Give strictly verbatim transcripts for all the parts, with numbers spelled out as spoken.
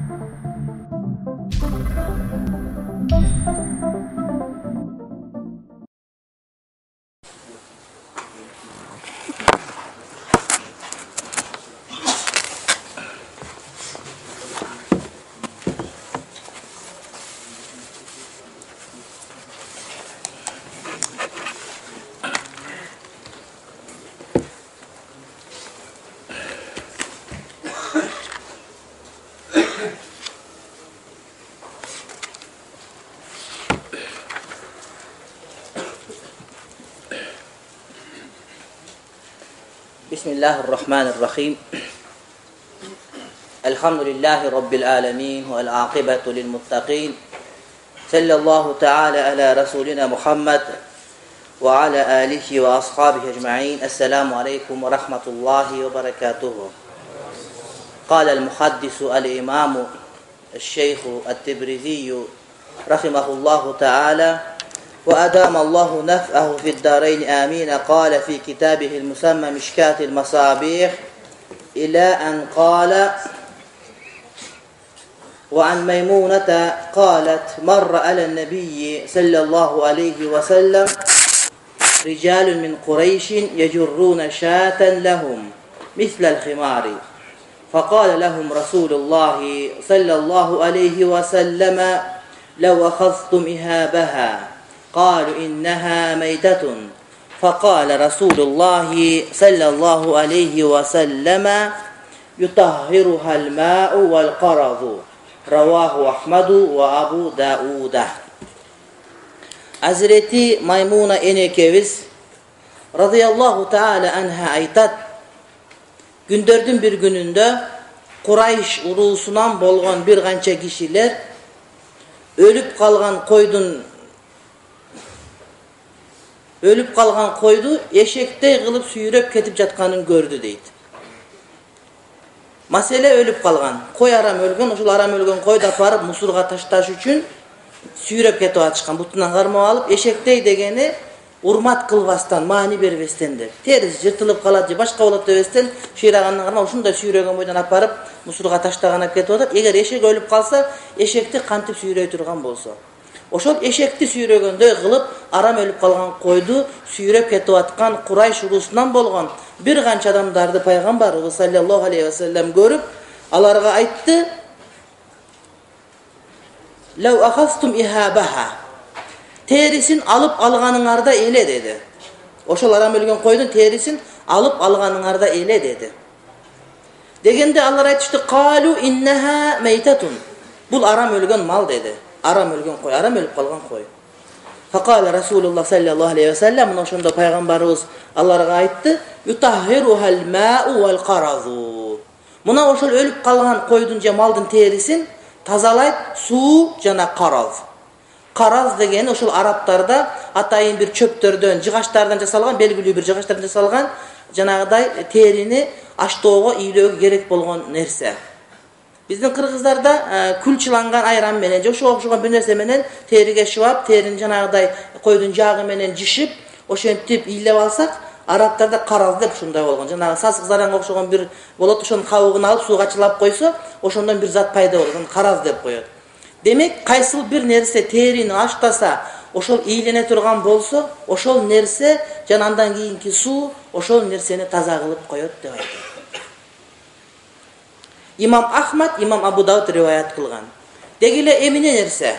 بسم الله الرحمن الرحيم الحمد لله رب العالمين والعاقبة للمتقين صلى الله تعالى على رسولنا محمد وعلى آله وأصحابه أجمعين. السلام عليكم ورحمة الله وبركاته. قال المحدث الإمام الشيخ التبريزي رحمه الله تعالى وأدام الله نفعه في الدارين آمين. قال في كتابه المسمى مشكاة المصابيح إلى أن قال وعن ميمونة قالت مر على النبي صلى الله عليه وسلم رجال من قريش يجرون شاة لهم مثل الخمار فقال لهم رسول الله صلى الله عليه وسلم لو أخذتم إهابها قالوا إنها ميتة فقال رسول الله صلى الله عليه وسلم يطهرها الماء والقرض رواه أحمد وأبو داود. Hazreti Maymuna enekemiz radıyallahu taala anha aytat, gündördün bir gününde Kurayş urusundan bolgan bir kança kişiler ölüp kalgan koydun ölüp kalgan koydu eşektey kılıp suyurep ketip jatkanın gördü deydi. Masele ölüp kalgan koy aram ölgön, ошол aram ölgön koydu aparıp musurga taştaş üçün suyurep ketip atышкан. Butundan karmap alıp eşektey degeni урмат кылбастан, маани бербестен деп. Терisi жыртылып калат же башка болот дебестен шыйрагандан карма ушундай сүйрөгөн бойдон апарып мусурга таштаган алып кетип атат. Эгер эшек өлүп калса, эшекти кантип сүйрөй турган болсо, ошол эшекти сүйрөгөндөй кылып арам өлүп калган койду сүйрөп кетип аткан Курайш урусунан болгон бир канча адамдарды пайгамбарыбыз саллаллаху алейхи ва саллям көрүп, аларга айтты: "Лау ахастум ихабаха" терисин алып алганыңарда эле деди. Ошол арам өлгөн койдун терисин алып алганыңарда эле деди. Дегенде алар айтышты: "Калу иннаха мейтатун" бул арам өлгөн мал деди. Арам өлгөн кой, арам өлүп калган кой. Факала Расулуллах саллаллаху алейхи ва саллям, мына ошондо пайгамбарыбыз аларга айтты: "Ютахирухал мау вал каразу" мына ошол өлүп калган койдун же малдын терисин тазалайт суу жана караз. Караз деген ошол араптарда атайын бир чөптөрдөн, жыгачтардан жасалган, белгилүү бир жыгачтардан жасалган жанагыдай терини аштоого, ыйлөөгө керек болгон нерсе. Биздин кыргыздарда күлчүланган айран менен же ошого окшогон бир нерсе менен териге шыбап, терини жанагыдай койдун жагы менен жишип, ошентип ыйлап алсак, арабтарда караз деп ушундай болгон. Жанагы сасык заранга окшогон бир болот, ошонун кабыгын алып сууга чылап койсо, ошондон бир зат пайда болот, аны караз деп коет. Демек, кайсыл бир нерсе терини аштаса, ошол ийлене турган болсо, ошол нерсе жана андан кийинки суу ошол нерсени таза кылып коет деп айтат. Имам Ахмад, Имам Абу Дауд риваят кылган. Дегиле эмне нерсе?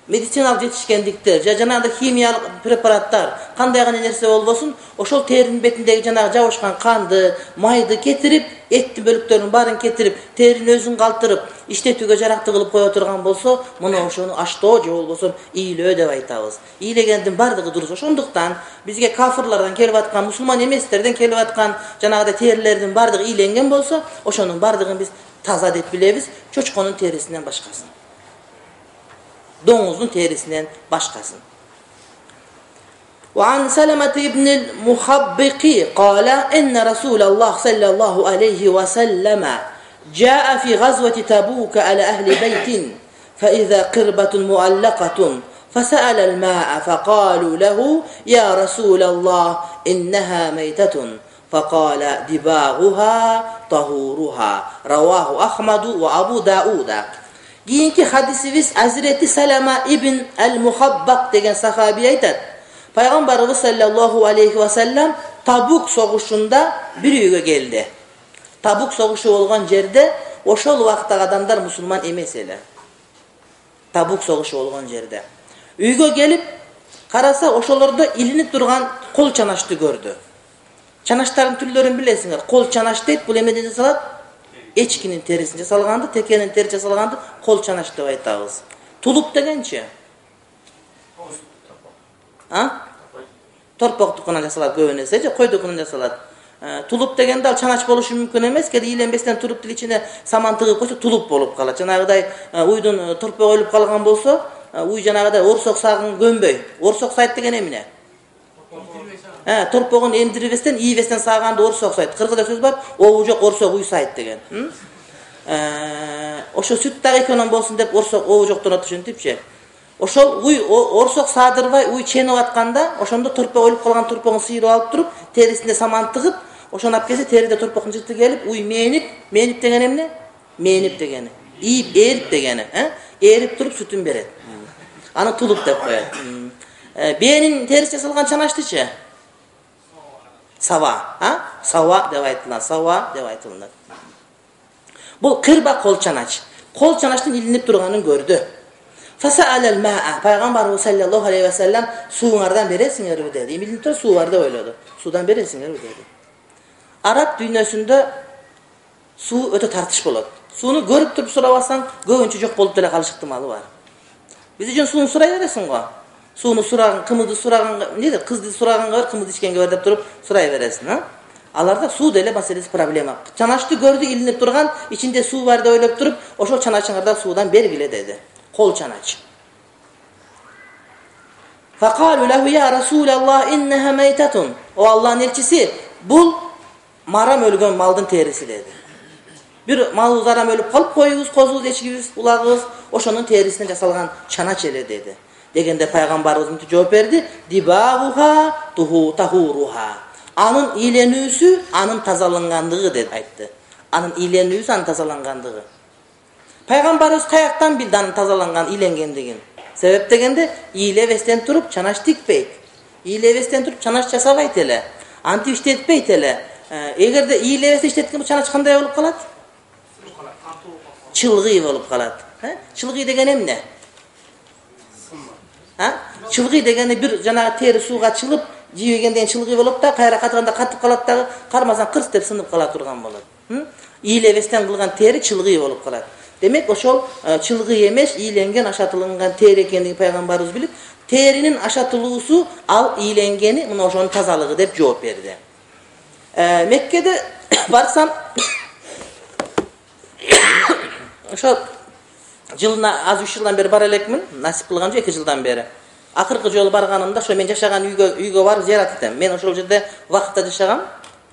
Медициналык жетишкендиктер, же жанагы химиялык препараттар, кандай гана нерсе болбосун, ошол теринин бетиндеги жанагы жабышкан канды, майды кетирип, эттин бөлүктөрүнүн баарын кетирип, теринин өзүн калтырып, иштетүүгө жарактуу кылып кое турган болсо, мына ошону аштоо же болбосо ыйлөө деп айтабыз. Ыйлегендин бардыгы дурус. Ошондуктан бизге кафырлардан келип аткан, мусулман эместерден келип аткан жанагы терилердин бардыгы ыйленген болсо, ошонун бардыгын биз таза деп билебиз, чочконун терисинен башкасын. Доңуздун терисинен башкасын. وعن سلمة بن المخبق قال إن رسول الله صلى الله عليه وسلم جاء في غزوة تبوك على أهل بيت فإذا قربة معلقة فسأل الماء فقالوا له يا رسول الله إنها ميتة فقال دباغها طهورها رواه أحمد وأبو داود. Кийинки хадисибиз Азирети Салама ибн ал-Мухаббак деген сахаби айтат. Пайгамбарыбыз саллаллаху алейхи ва саллям Табук согушунда бир үйгө келди. Табук согушу болгон жерде ошол убактагы адамдар мусулман эмес эле. Табук согушу болгон жерде. Үйгө келип караса ошолордо илинип турган кол чанашты көрдү. Чанаштардын түрлөрүн билесиңер. Кол чанаш дейт, бул эмеден жасалат? Эчкинин терисин жасалганды, текенин терisi жасалганды кол чанаш деп айтабыз. Тулуп дегенчи? А? Торпоктукунан жасалат көбүнесе, же койдукунан жасалат. Тулуп дегенде ал чанач болушу мүмкүн эмес, кеде ийленбестен туруп тил ичине саман тыгып койсо тулуп болуп калат. Жанагыдай уйдун торпок өлүп калган болсо, уй жанагыдай орсок сагын көнбөй. Орсок сайт деген эмне? Э, торпогун эмдирбестен, ийбестен саганды орсок сайт. Кыргызда сөз бар, обу жок орсок уй сайт деген. Э, ошо сүт дагы экөөнөн болсун деп орсок обу жоктон ошентипчи. Ошол уй орсок саадырбай уй ченип атканда, ошондо торпок өлүп калган торпогун сыйрып алып туруп, терисинде саман тыгып, ошону алып келсе териде торпоктун жырты келип, уй менип, менип деген эмне? Менип дегени. Ийип, ээрип дегени, э? Ээрип туруп сүтүн берет. Аны тулуп деп коет. Э, бээнин терisi жасалган чанаштычы? Сава, а? Сава деп айтылат, сава деп айтылат. Бул кырба кол чанач. Кол чанаштын илинип турганын көрдү. Фасаалал маа. Пайгамбарыбыз саллаллаху алейхи ва саллям сууңардан бересиңерби деди. Илинип тур суу бар деп ойлоду. Суудан бересиңерби деди. Араб дүйнөсүндө суу өтө тартыш болот. Сууну көрүп туруп сурабасаң, көбүнчө жок болуп деле калыш ыктымалы бар. Биз үчүн сууну сурай бересиң го. Сууну сураган, кымызды сураган, эмне кызды сураганга бар, кымызды ичкенге бар деп туруп сурай бересиң, а? Аларда суу деле маселеси проблема. Чанашты көрдү, илинип турган, ичинде суу бар деп ойлоп туруп, ошол чаначыңардан суудан бергиле деди. Кол чанач. Факалу лаху я Расулаллах иннаха майтатун. О Аллахтын элчиси, бул марам өлгөн малдын териси деди. Бир малыбыз арам өлүп калып, коюбуз, козубуз, эчкибиз, улагыбыз ошонун терисинен жасалган чанач эле деди. Дегенде пайгамбарыбыз мынтип жооп берди: "Дибагуха туху тахуруха." Анын ийленүүсү, анын тазалангандыгы деп айтты. Анын ийленүүсү, анын тазалангандыгы. Пайгамбарыбыз каяктан билди анын тазаланган, ийленгендигин? Себеп дегенде, ийлебестен туруп чанач тикпейт. Ийлебестен туруп чанач жасабайт эле. Антип иштетпейт эле. Эгерде ийлебестен иштеткен бул чанач кандай болуп калат? Чылгый болуп калат. Чылгый деген эмне? А? Чылгый дегени бир жанагы тери сууга чылып, жибегенден чылгый болуп да, кайра катганда катып калат дагы, кармасаң кырс деп сынып кала турган болот. Ийлебестен кылган тери чылгый болуп калат. Демек ошол чылгый эмес, ийленген, ашатылган тери экендигин пайгамбарыбыз билип, теринин ашатылуусу ал ийленгени, мына ошонун тазалыгы деп жооп берди. Э, Меккеде барсам ошо жылына аз үч жылдан бери бара элекмин, насип кылган жок эки жылдан бери. Акыркы жолу барганымда ошо мен жашаган үйгө үйгө барып зыярат этем. Мен ошол жерде вакытта жашагам.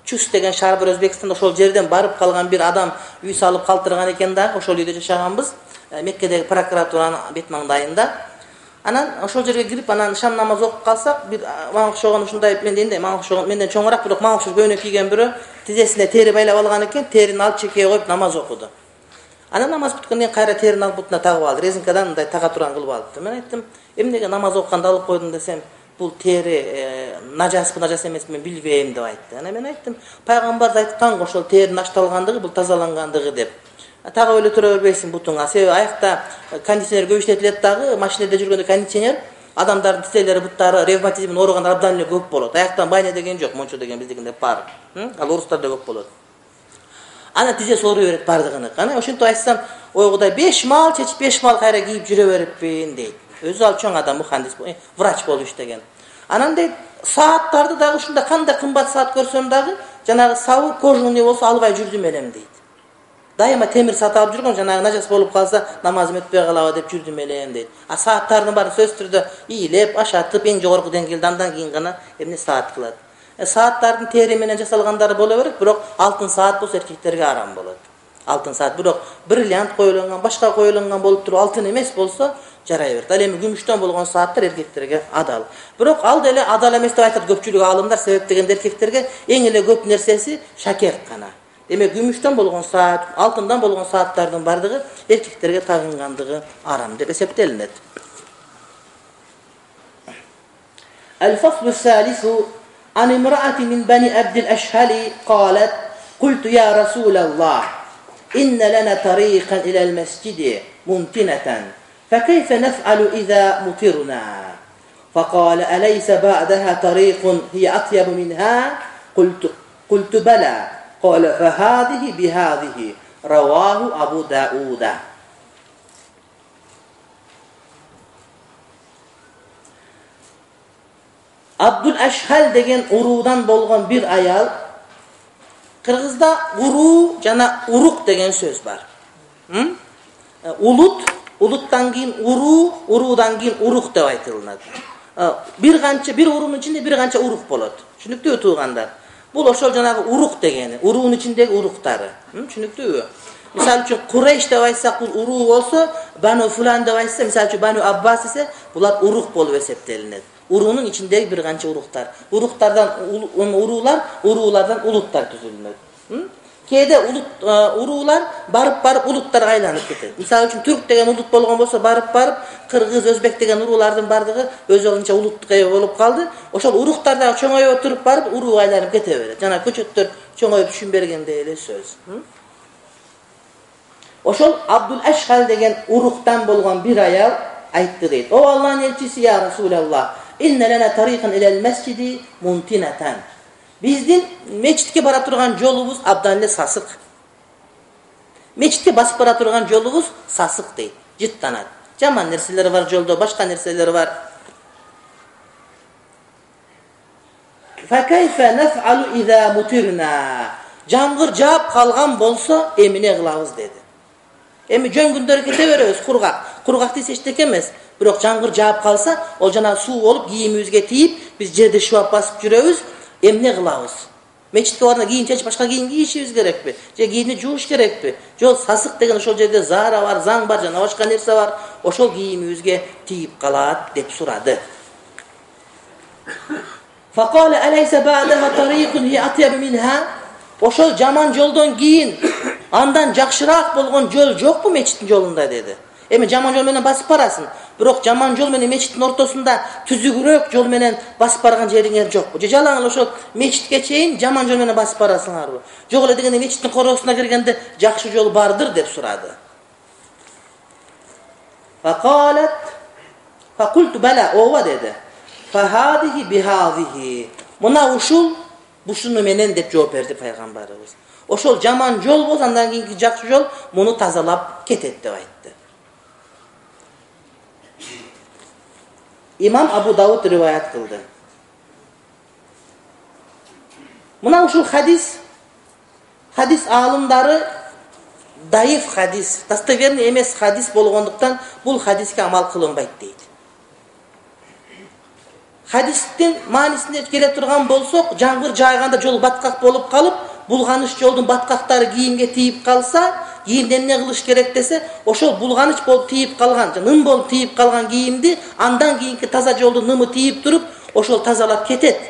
Чус деген шаар бар Өзбекстанда, ошол жерден барып калган бир адам үй салып калтырган экен да, ошол үйдө жашаганбыз. Меккедеги прокуратуранын бет маңдайында. Анан ошол жерге кирип, анан шам намаз окуп калсак, бир мага окшогон ушундай менден мага окшогон, менден чоңураак, бирок мага окшош көйнөк кийген бирөө тизесине тери байлап алган экен, терини алып чекеге коюп намаз окуду. Анан намаз бүткөндөн кийин кайра терини алып бутуна тагып алды. Резинкадан мындай тага турган кылып алды. Мен айттым, эмнеге намаз окуганда алып койдум десем, бул тери нажаспы, нажас эмеспи мен билбейм деп айтты. Анан мен айттым, пайгамбар айткан ошол теринин ашталгандыгы, бул тазалангандыгы деп. Тагы өлө тура бербейсиң бутуңа. Себеби аякта кондиционер көп иштетилет дагы, машинеде жүргөндө кондиционер адамдардын тизелери, буттары ревматизмден ооругандар абдан эле көп болот. Аяктан байне деген жок, мончо деген биздикинде бар. Ал орустарда көп болот. Ана тизеси ооруй берет бардыгыны. Анан ошентип айтсам, ой Кудай, беш мал чечип, беш мал кайра кийип жүрө бериппин дейт. Өзү ал чоң адам, мухандис, врач болуп иштеген. Анан дейт, сааттарды дагы ушунда кандай кымбат саат көрсөм дагы, жанагы сабы кожуный болсо албай жүрдүм элем дейт. Дайыма темир саат алып жүргөм, жанагы нажас болуп калса, намазым өтпөй калабы деп жүрдүм элем дейт. А сааттардын баары сөзсүз түрдө ийилеп, ашатып, эң жогорку деңгээлде андан кийин гана эмне саат кылат. Сааттардын тери менен жасалгандары боло берет, бирок алтын саат болсо эркектерге арам болот. Алтын саат, бирок бриллиант коюлган, башка коюлган болуп туруп алтын эмес болсо жарай берет. Ал эми күмүштөн болгон сааттар эркектерге адал. Бирок ал деле адал эмес деп айтат көпчүлүк аалымдар, себеп дегенде эркектерге эң эле көп нерсеси шакерт гана. эме күмүштөн болгон саат, алтындан болгон сааттардын бардыгы эркектерге тагынгандыгы арам деп эсептелинет. الفصل الثالث عن امرأة من بني عبد الأشهل قالت قلت يا رسول الله إن لنا طريقا إلى المسجد ممتنة فكيف نفعل إذا مطرنا فقال أليس بعدها طريق هي أطيب منها قلت, قلت بلى قال فهذه بهذه رواه أبو داود. Abdul Ashhal деген урудан болгон бир аял. Кыргызда уруу жана урук деген сөз бар. Улут, улуттан кийин уруу, уруудан кийин урук деп айтылат. Бир канча бир уруунун ичинде бир канча урук болот. Түшүнүктүүбү туугандар? Бул ошол жанагы урук дегени, уруунун ичиндеги уруктары. Түшүнүктүүбү? Мисалы үчүн Курейш деп айтсак бул уруу болсо, Бану Фулан деп айтса, мисалы үчүн Бану Аббас десе, булар урук болуп эсептелинет. Уруунун ичиндеги бир канча уруктар. Уруктардан уруулар, уруулардан улуттар түзүлөт. Кээде улут уруулар барып-барып улуттарга айланып кетет. Мисалы үчүн түрк деген улут болгон болсо, барып-барып кыргыз, өзбек деген уруулардын бардыгы өзүнчө улуттукка ээ болуп калды. Ошол уруктар дагы чоңоюп туруп барып урууга айланып кете берет. Жана көчөттөр чоңоюп түшүн бергендей эле сөз. Ошол Абдул Ашхал деген уруктан болгон бир аял айтты дейт. О Аллахтын элчиси, я Расулаллах, инна лана тарикан илал масжиди мунтинатан. Биздин мечитке бара турган жолубуз абдан эле сасык. Мечитке басып бара турган жолубуз сасык дейт, жыттанат. Жаман нерселер бар жолдо, башка нерселер бар. Фа кайфа наф'алу иза мутирна. Жамгыр жаап калган болсо эмне кылабыз деди. Эми жөн күндөр кете беребиз, кургак. Кургак десе эчтеке эмес. Бирок жамгыр жаап калса, ол жана суу болуп кийимибизге тийип, биз жерде шуап басып жүрөбүз. Эмне кылабыз? Мечитке барганда кийим чечип башка кийим кийишибиз керекпи? Же кийимди жууш керекпи? Жол сасык деген ошол жерде заара бар, заң бар, жана башка нерсе бар. Ошол кийимибизге тийип калат деп сурады. Факала алайса ба'даха тарикун hi atyab minha. Ошол жаман жолдон кийин андан жакшыраак болгон жол жокпу мечиттин жолунда деди. Эми жаман жол менен басып барасың. Бирок жаман жол менен мечиттин ортосунда түзүгүрөөк жол менен басып барган жериңер жокпу? Же жалаң эле ошол мечитке чейин жаман жол менен басып барасыңарбы? Жок эле дегенде мечиттин коросуна киргенде жакшы жол бардыр деп сурады. Факалат факулту бала, ооба деди. Фахадихи бихадихи. Мына ушул бушуну менен деп жооп берди пайгамбарыбыз. Ошол жаман жол болсо андан кийинки жакшы жол муну тазалап кетет деп айтты. İmam Abu Davud rivayet kıldı. Muna uşul hadis, hadis alımları dayıf hadis, dostoverniy emes hadis bolgonduktan bul hadiske amal kılınbayt deydi. Hadistin manisinde kele turgan bolsok, jangır jayganda jol batkak bolup kalıp, bulganış joldun batkaktары kiyimge tiyip kalsa, kiyimden ne kılış gerek dese, oşol bulganış bolup tiyip kalgan, nım bolup tiyip kalgan kiyimdi, andan kiyinki taza joldu nımı tiyip durup, oşol tazalap ketet.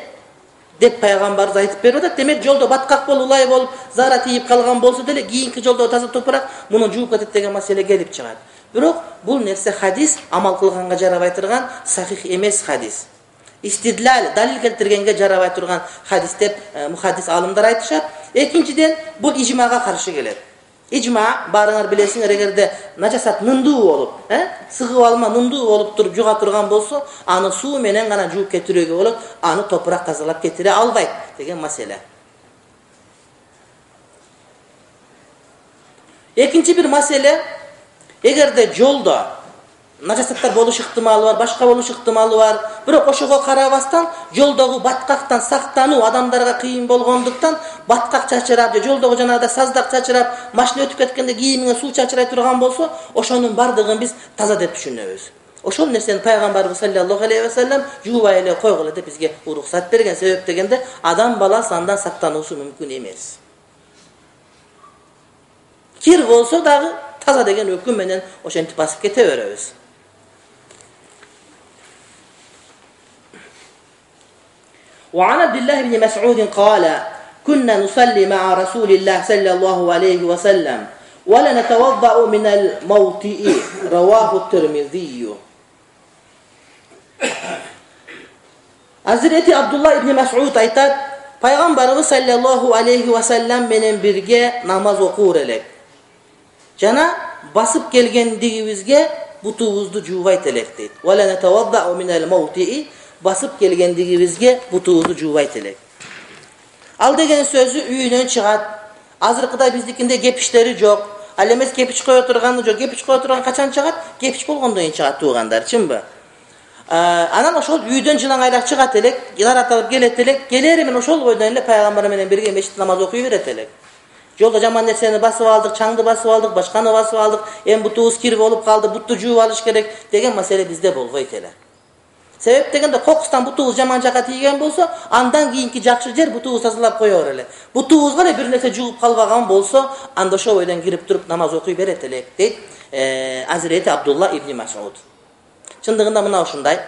Dep paygambarыбыз айтып берип атат. Демек жолдо баткак болуп, улай болуп, зара тийип калган болсо деле кийинки жолдо таза топурак муну жууп кетет деген маселе келип чыгат. Бирок бул нерсе хадис амал кылганга жарабай турган сахих эмес хадис. Истидлал, далил келтиргенге жарабай турган хадис деп мухаддис алымдар айтышат. Экинчиден бул ижмага каршы келет. Ижма, барыңар билесиңер, эгерде начасат нымдуу болуп, э? Сыгып алма нымдуу болуп туруп жуга турган болсо, аны суу менен гана жууп кетирүүгө болот, аны топурак тазалап кетире албайт деген маселе. Экинчи бир маселе, эгерде жолдо начасаттар болуш ыктымалы бар, башка болуш ыктымалы бар, бирок ошого карабастан жолдогу баткактан сактануу адамдарга кыйын болгондуктан баткак чачырап же жолдогу жанагыдай саздак чачырап, машина өтүп кеткенде кийимиңе суу чачырай турган болсо, ошонун бардыгын биз таза деп түшүнөбүз. Ошол нерсени пайгамбарыбыз саллаллаху алейхи ва саллям жуубай эле койгула деп бизге уруксат берген. Себеп дегенде адам баласы андан сактануусу мүмкүн эмес. Кир болсо дагы таза деген өкүм менен ошентип басып кете беребиз. وعن عبد الله بن مسعود قال kunna nusalli ma'a Rasulillah sallallahu aleyhi ve sellem ve la natawadda'u min al-mawti'i rawahu Tirmizi. Hazreti Abdullah ibn Mas'ud aytat, Peygamberimiz sallallahu aleyhi ve sellem menen birge namaz okur elek. Jana basıp kelgendigibizge butuğuzdu juvayt elek deyt. Ve la natawadda'u min al-mawti'i basıp kelgendigibizge butuğuzdu juvayt elek. Al degen sözü üyünөн çıgat. Azırkıda bizdikinde gepişleri jok. Al emes gepiç koyo turgаны jok. Gepiç koyo turgan kaçan çıgat? Gepiç bolgondon keyin çıgat tuğandar, çimbi? Anan oşol üydөн жылаң айлак чыгат элек, яратылып келет элек, келери мен ошол бойдон эле пайгамбар менен бирге мешит намаз окуй берет элек. Жолдо жаман нерсени басып алдык, чаңды басып алдык, башканы басып алдык, эми бутубуз кирип болуп калды, бутту жууп алыш керек деген маселе бизде болбойт эле. Себеп дегенде кокустан бутубуз жаман жака тийген болсо, андан кийинки жакшы жер бутубуз тазалап коёбур эле. Бутубузга эле бир нерсе жууп калбаган болсо, анда ошол бойдон кирип туруп намаз окуй берет элек, дейт Азирети Абдулла ибн Мас'уд. Чындыгында мына ушундай.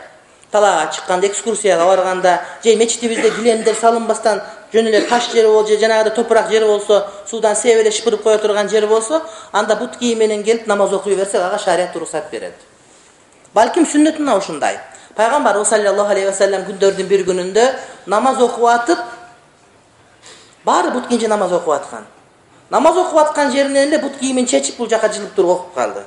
Талаага чыкканда, экскурсияга барганда, же мечитибизде килемдер салынбастан жөн эле таш жери болсо, же жанагыда топурак жери болсо, суудан сеп эле шыпырып кое турган жер болсо, анда бут кийим менен келип намаз окуй берсек, ага шарият уруксат берет. Балким сүннөт мына ушундай. Пайгамбарыбыз саллаллаху алейхи ва саллям күндөрдүн бир күнүндө намаз окуп атып, баары бут кийимче намаз окуп аткан. Намаз окуп аткан жеринен эле бут кийимин чечип бул жака жылып туруп окуп калды.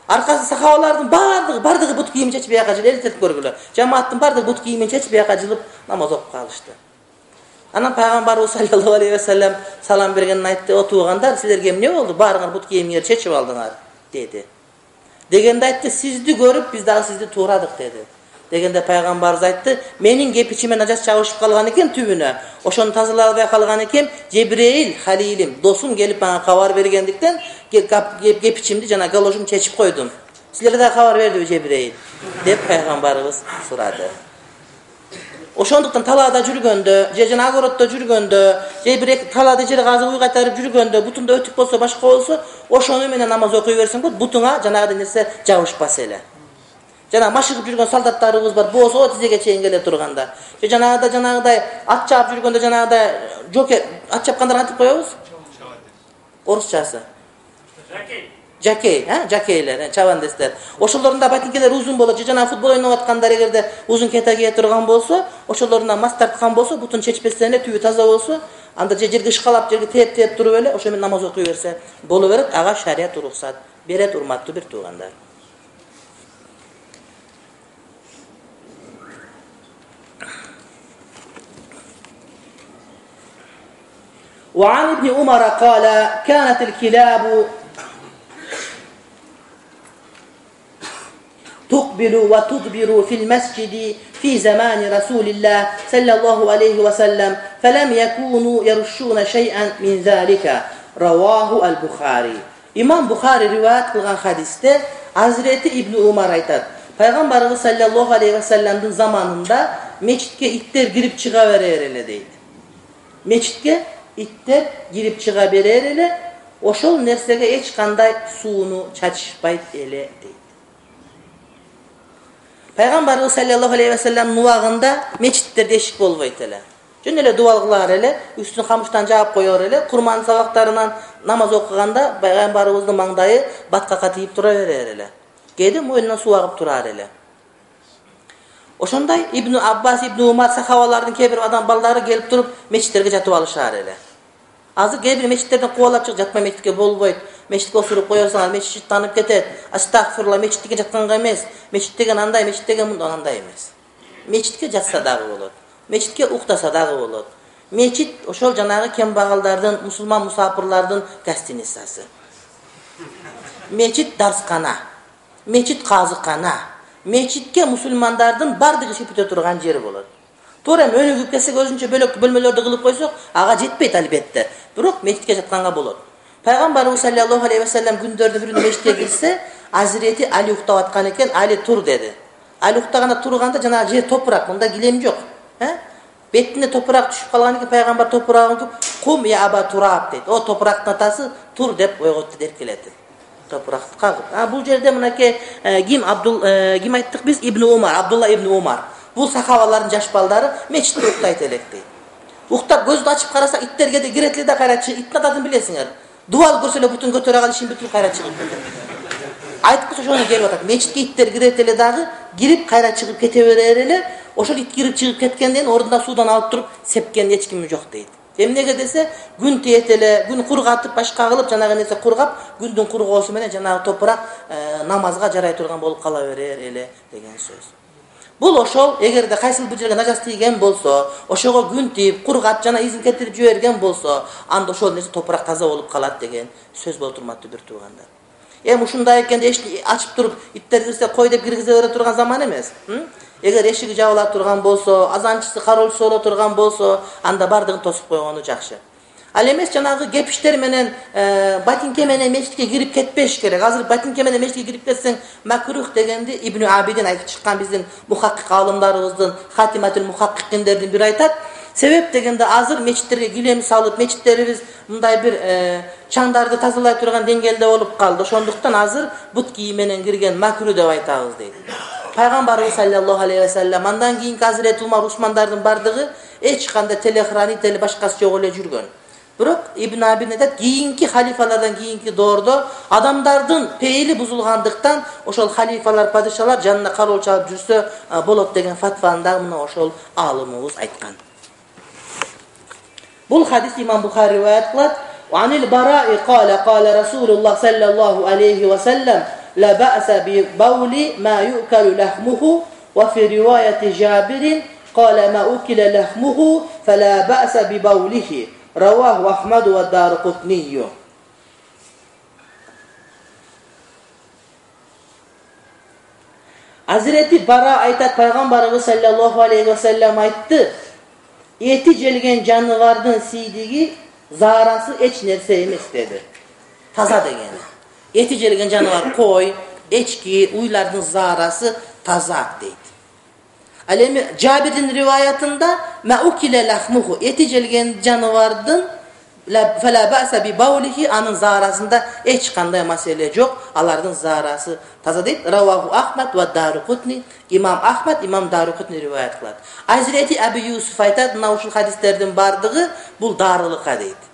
Аркасы сахабалардын бардыгы, бардыгы бут кийимин чечип бияка жылып элестетип көргүлө. Жамааттын бардыгы бут кийимин чечип бияка жылып намаз окуп калышты. Анан пайгамбарыбыз саллаллаху алейхи ва саллям салам бергенин айтты: "О туугандар, силерге эмне болду? Баарыңар бут кийимиңерди чечип алдыңар?" деди. Дегенде айтты: "Сизди көрүп биз дагы сизди туурадык" деди. Дегенде пайгамбарыбыз айтты: "Менин кепичиме нажас чабышып калган экен түбүнө. Ошону тазалай албай калган экен, Жебреил халилим, досум келип мага кабар бергендиктен кепичимди жана галошумду чечип койдум. Силерге да кабар бердиби Жебреил?" деп пайгамбарыбыз сурады. Ошондуктан талаада жүргөндө, же жана огороддо жүргөндө, же бир талаада жер казып уй кайтарып жүргөндө, бутунда өтүк болсо, башка болсо, ошону менен намаз окуй берсең болот, бутуңа жанагы нерсе жабышпас эле. Жана машыгып жүргөн солдаттарыбыз бар, боосо тизеге чейин келе турганда. Же жанагыда жанагыдай ат чаап жүргөндө жанагыдай жокер, ат чапкандар кантип коебуз? Орусчасы. Жакей. Жакей, ha, жакейлер, чабандестер. Ошолорунда батинкелер узун болот, же жана футбол ойноп аткандар эгерде узун кета кие турган болсо, ошолорунан мас тарткан болсо, бутун чечпестен эле түбү таза болсо, анда же жерге ышкалап, жерге тээп-тээп туруп эле ошо менен намаз окуй берсе боло берет. Ага шарият уруксат берет, урматтуу бир туугандар. وعن ابن عمر قال كانت الكلاب تقبل وتدبر في المسجد في زمان رسول الله صلى الله عليه وسلم فلم يكونوا يرشون شيئا من ذلك رواه البخاري. İmam Bukhari rivayet kılgan hadiste Hazreti İbn Umar aytat. Peygamberimiz sallallahu aleyhi ve sellem'in zamanında meçitke itler girip çıka verer ele deydi. Meçitke itler girip çıka verer ele, oşol nersege hiç kanday suunu çatışpayt ele deydi. Peygamberimiz sallallahu aleyhi ve sellem nuvagında meçitler deşik bolbayt ele. Jön ele dua kılar ele, üstünü kamıştan jap koyor ele, kurman sabaklarından namaz okuganda Peygamberimizdin mangdayı batkaka tiyip tura verer ele. Kedi moyundan su agıp turar ele. Oşonday İbn Abbas, İbn Umar sahabalardın kebir adam baldары gelip turup meçitlerge jatıp alışar ele. Azır kebir meçitlerden kovalap çık, jatma meçitke bolboyt. Meçitke osurup koyorsaňar meçit tanıp ketet. Astagfirullah, meçitke jatkanga emes. Meçit degen anday, meçit degen mundan anday emes. Meçitke jatsa dagı bolot. Meçitke uktasa dagı bolot. Meçit oşol janagı kembagallardın, musulman musafirlardın gastinissası. Meçit darskana. Meçit kazıkana. Meçitke musulmandardın bardığı şipite turgan jeri bolot. Torem önügüp kelsek özünçe bölök bölmelerde kılıp koysak, aga jetpeyt albatta. Bирок meçitke jatkanga bolot. Peygamberimiz sallallahu aleyhi ve sellem gündörde birinde meçitke girse, Hazreti Ali uktap atkan eken, Ali tur dedi. Ali uktaganda turganda jana jer toprak, bunda gilem jok. He? Betine toprak düşüp kalgan eken Peygamber toprağın küp, "Kum ya Aba Turab" dedi. O toprağın atası tur dep oygottu derkeledi. Topraktı kagıp. Ha bu jerde mınake kim Abdul e, kim ayttık biz İbn Umar, Abdullah İbn Umar. Bu sahabaların jaş baldары meçitте uktayt elek deydi. Уктап көздү ачып караса иттер кеде кирет эле да кайра чыгып, иттин адатын билесиңер. Дубал көрсө эле бутун көтөрө калып ишин бүтүрүп кайра чыгып кетет. Айтып койсо ошону келип атат. Мечитке иттер кирет эле дагы, кирип кайра чыгып кете берер эле. Ошол ит кирип чыгып кеткенден ордунда суудан алып туруп сепкен эч ким жок дейт. Эмнеге десе, күн тиет эле, күн кургатып, башка кылып, жанагы нерсе кургап, күндүн кургоосу менен жанагы топурак намазга жарай турган болуп кала берер эле деген сөз. Бул ошол эгерде кайсыл бир жерге нажас тийген болсо, ошого күн тийип, кургап жана изин кетирип жиберген болсо, анда ошол нерсе топурак таза болуп калат деген сөз болуп турматтуу бир туугандар. Эми ушундай экенде эшикти ачып туруп, иттер кирсе кой деп киргизе бере турган заман эмес. Эгер эшиги жабыла турган болсо, азанчысы, кароолчусу боло турган болсо, анда бардыгын тосуп койгону жакшы. Ал эмес жанагы кепиштер менен, батинке менен мечитке кирип кетпеш керек. Азыр батинке менен мечитке кирип кетсең макрух дегенди Ибн Абидин айтып чыккан биздин мухаккик аалымдарыбыздын Хатиматул Мухаккикиндердин бири айтат. Себеп дегенде азыр мечиттерге килем салып, мечиттерибиз мындай бир чаңдарды тазалай турган деңгээлде болуп калды. Ошондуктан азыр бут кийим менен кирген макрух деп айтабыз дейт. Пайгамбарыбыз саллаллаху алейхи ва саллям андан кийинки Азирет Умар, Усмандардын бардыгы эч кандай телехранитель башкасы жок эле жүргөн. Бирок Ибн Абидин айтат, кийинки халифалардан кийинки доордо адамдардын пейили бузулгандыктан ошол халифалар, падышалар жанына кароолчу алып жүрсө болот деген фатваны да мына ошол аалымыбыз айткан. Бул хадис имам Бухари риваят кылат. Анил Бараи кала кала Расулуллах саллаллаху алейхи ва саллям لا بأس ببول ما يؤكل لحمه وفي رواية جابر قال ما أكل لحمه فلا بأس ببوله رواه أحمد والدارقطني. Hazreti Bara aytat, Peygamberimiz sallallahu aleyhi ve sellem aytты, eti jelgen janıvardın siydigi zarası eç nerse emes dedi. Taza degeni. Eti jelgen janavar koy, eçki, uylardın zarası taza deydi. Alemi Cabir'in rivayetinde ma ukile lahmuhu, eti jelgen janavardın fela ba'sa bi bawlihi, anın zarasında eç kanday mesele yok. Alardın zarası taza deydi. Ravahu Ahmed ve Darukutni, İmam Ahmed, İmam Darukutni rivayet kıladı. Hazreti Ebu Yusuf aytat, nauşul hadislerden bardığı bul darılıqa deydi.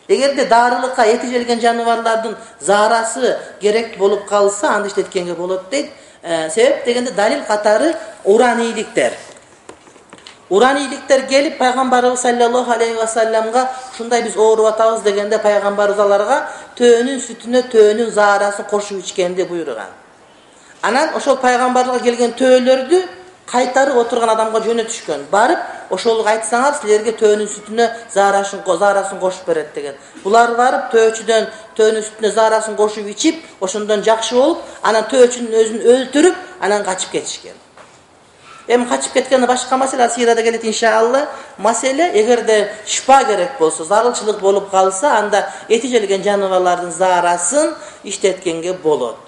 Эгерде дарылыкка эти желген жаныбарлардын зарасы керек болуп калса, анда иштеткенге болот дейт. Себеп дегенде далил катары уранийликтер. Уранийликтер келип Пайгамбарыбыз саллаллаху алейхи ва салламга ушундай биз ооруп атабыз дегенде Пайгамбарыбыз аларга төөнүн сүтүнө төөнүн зарасын кошуп ичкенди буйруган. Анан ошол Пайгамбарга келген төөлөрдү кайтарып отурган адамга жөнөтүшкөн. Барып ошолук айтсаңар силерге төөнүн сүтүнө зарасын зарасын кошуп берет деген. Булар барып төөчүдөн төөнүн сүтүнө зарасын кошуп ичип, ошондон жакшы болуп, анан төөчүнүн өзүн өлтүрүп, анан качып кетишкен. Эми качып кеткени башка маселе, сирада келет иншалла. Маселе эгерде шифа керек болсо, зарылчылык болуп калса, анда эти желген жаныбарлардын зарасын иштеткенге болот.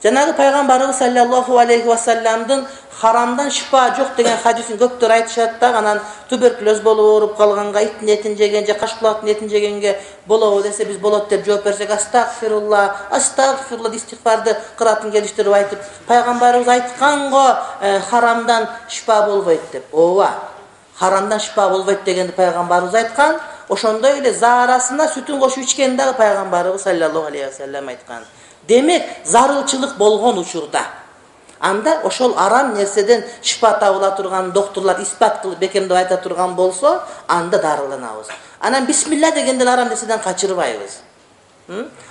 Жанагы Пайгамбарыбыз саллаллаху алейхи ва салламдын харамдан шифа жок деген хадисин көптөр айтышат да, анан туберкулез болуп ооруп калганга иттин этин жеген же кашкулактын этин жегенге болобу десе, биз болот деп жооп берсек, астагфирулла, астагфирулла истигфарды кыратын келиштирип айтып, Пайгамбарыбыз айткан го харамдан шифа болбойт деп. Ооба, харамдан шифа болбойт дегенди Пайгамбарыбыз айткан. Ошондой эле зарасына сүтүн кошуп ичкен дагы Пайгамбарыбыз саллаллаху алейхи ва саллям айткан. Демек, зарылчылык болгон учурда анда ошол арам нерседен шифа табыла турган докторлор испат кылып бекемдеп айта турган болсо, анда дарыланабыз. Анан бисмилла дегенде арам нерседен качырбайбыз.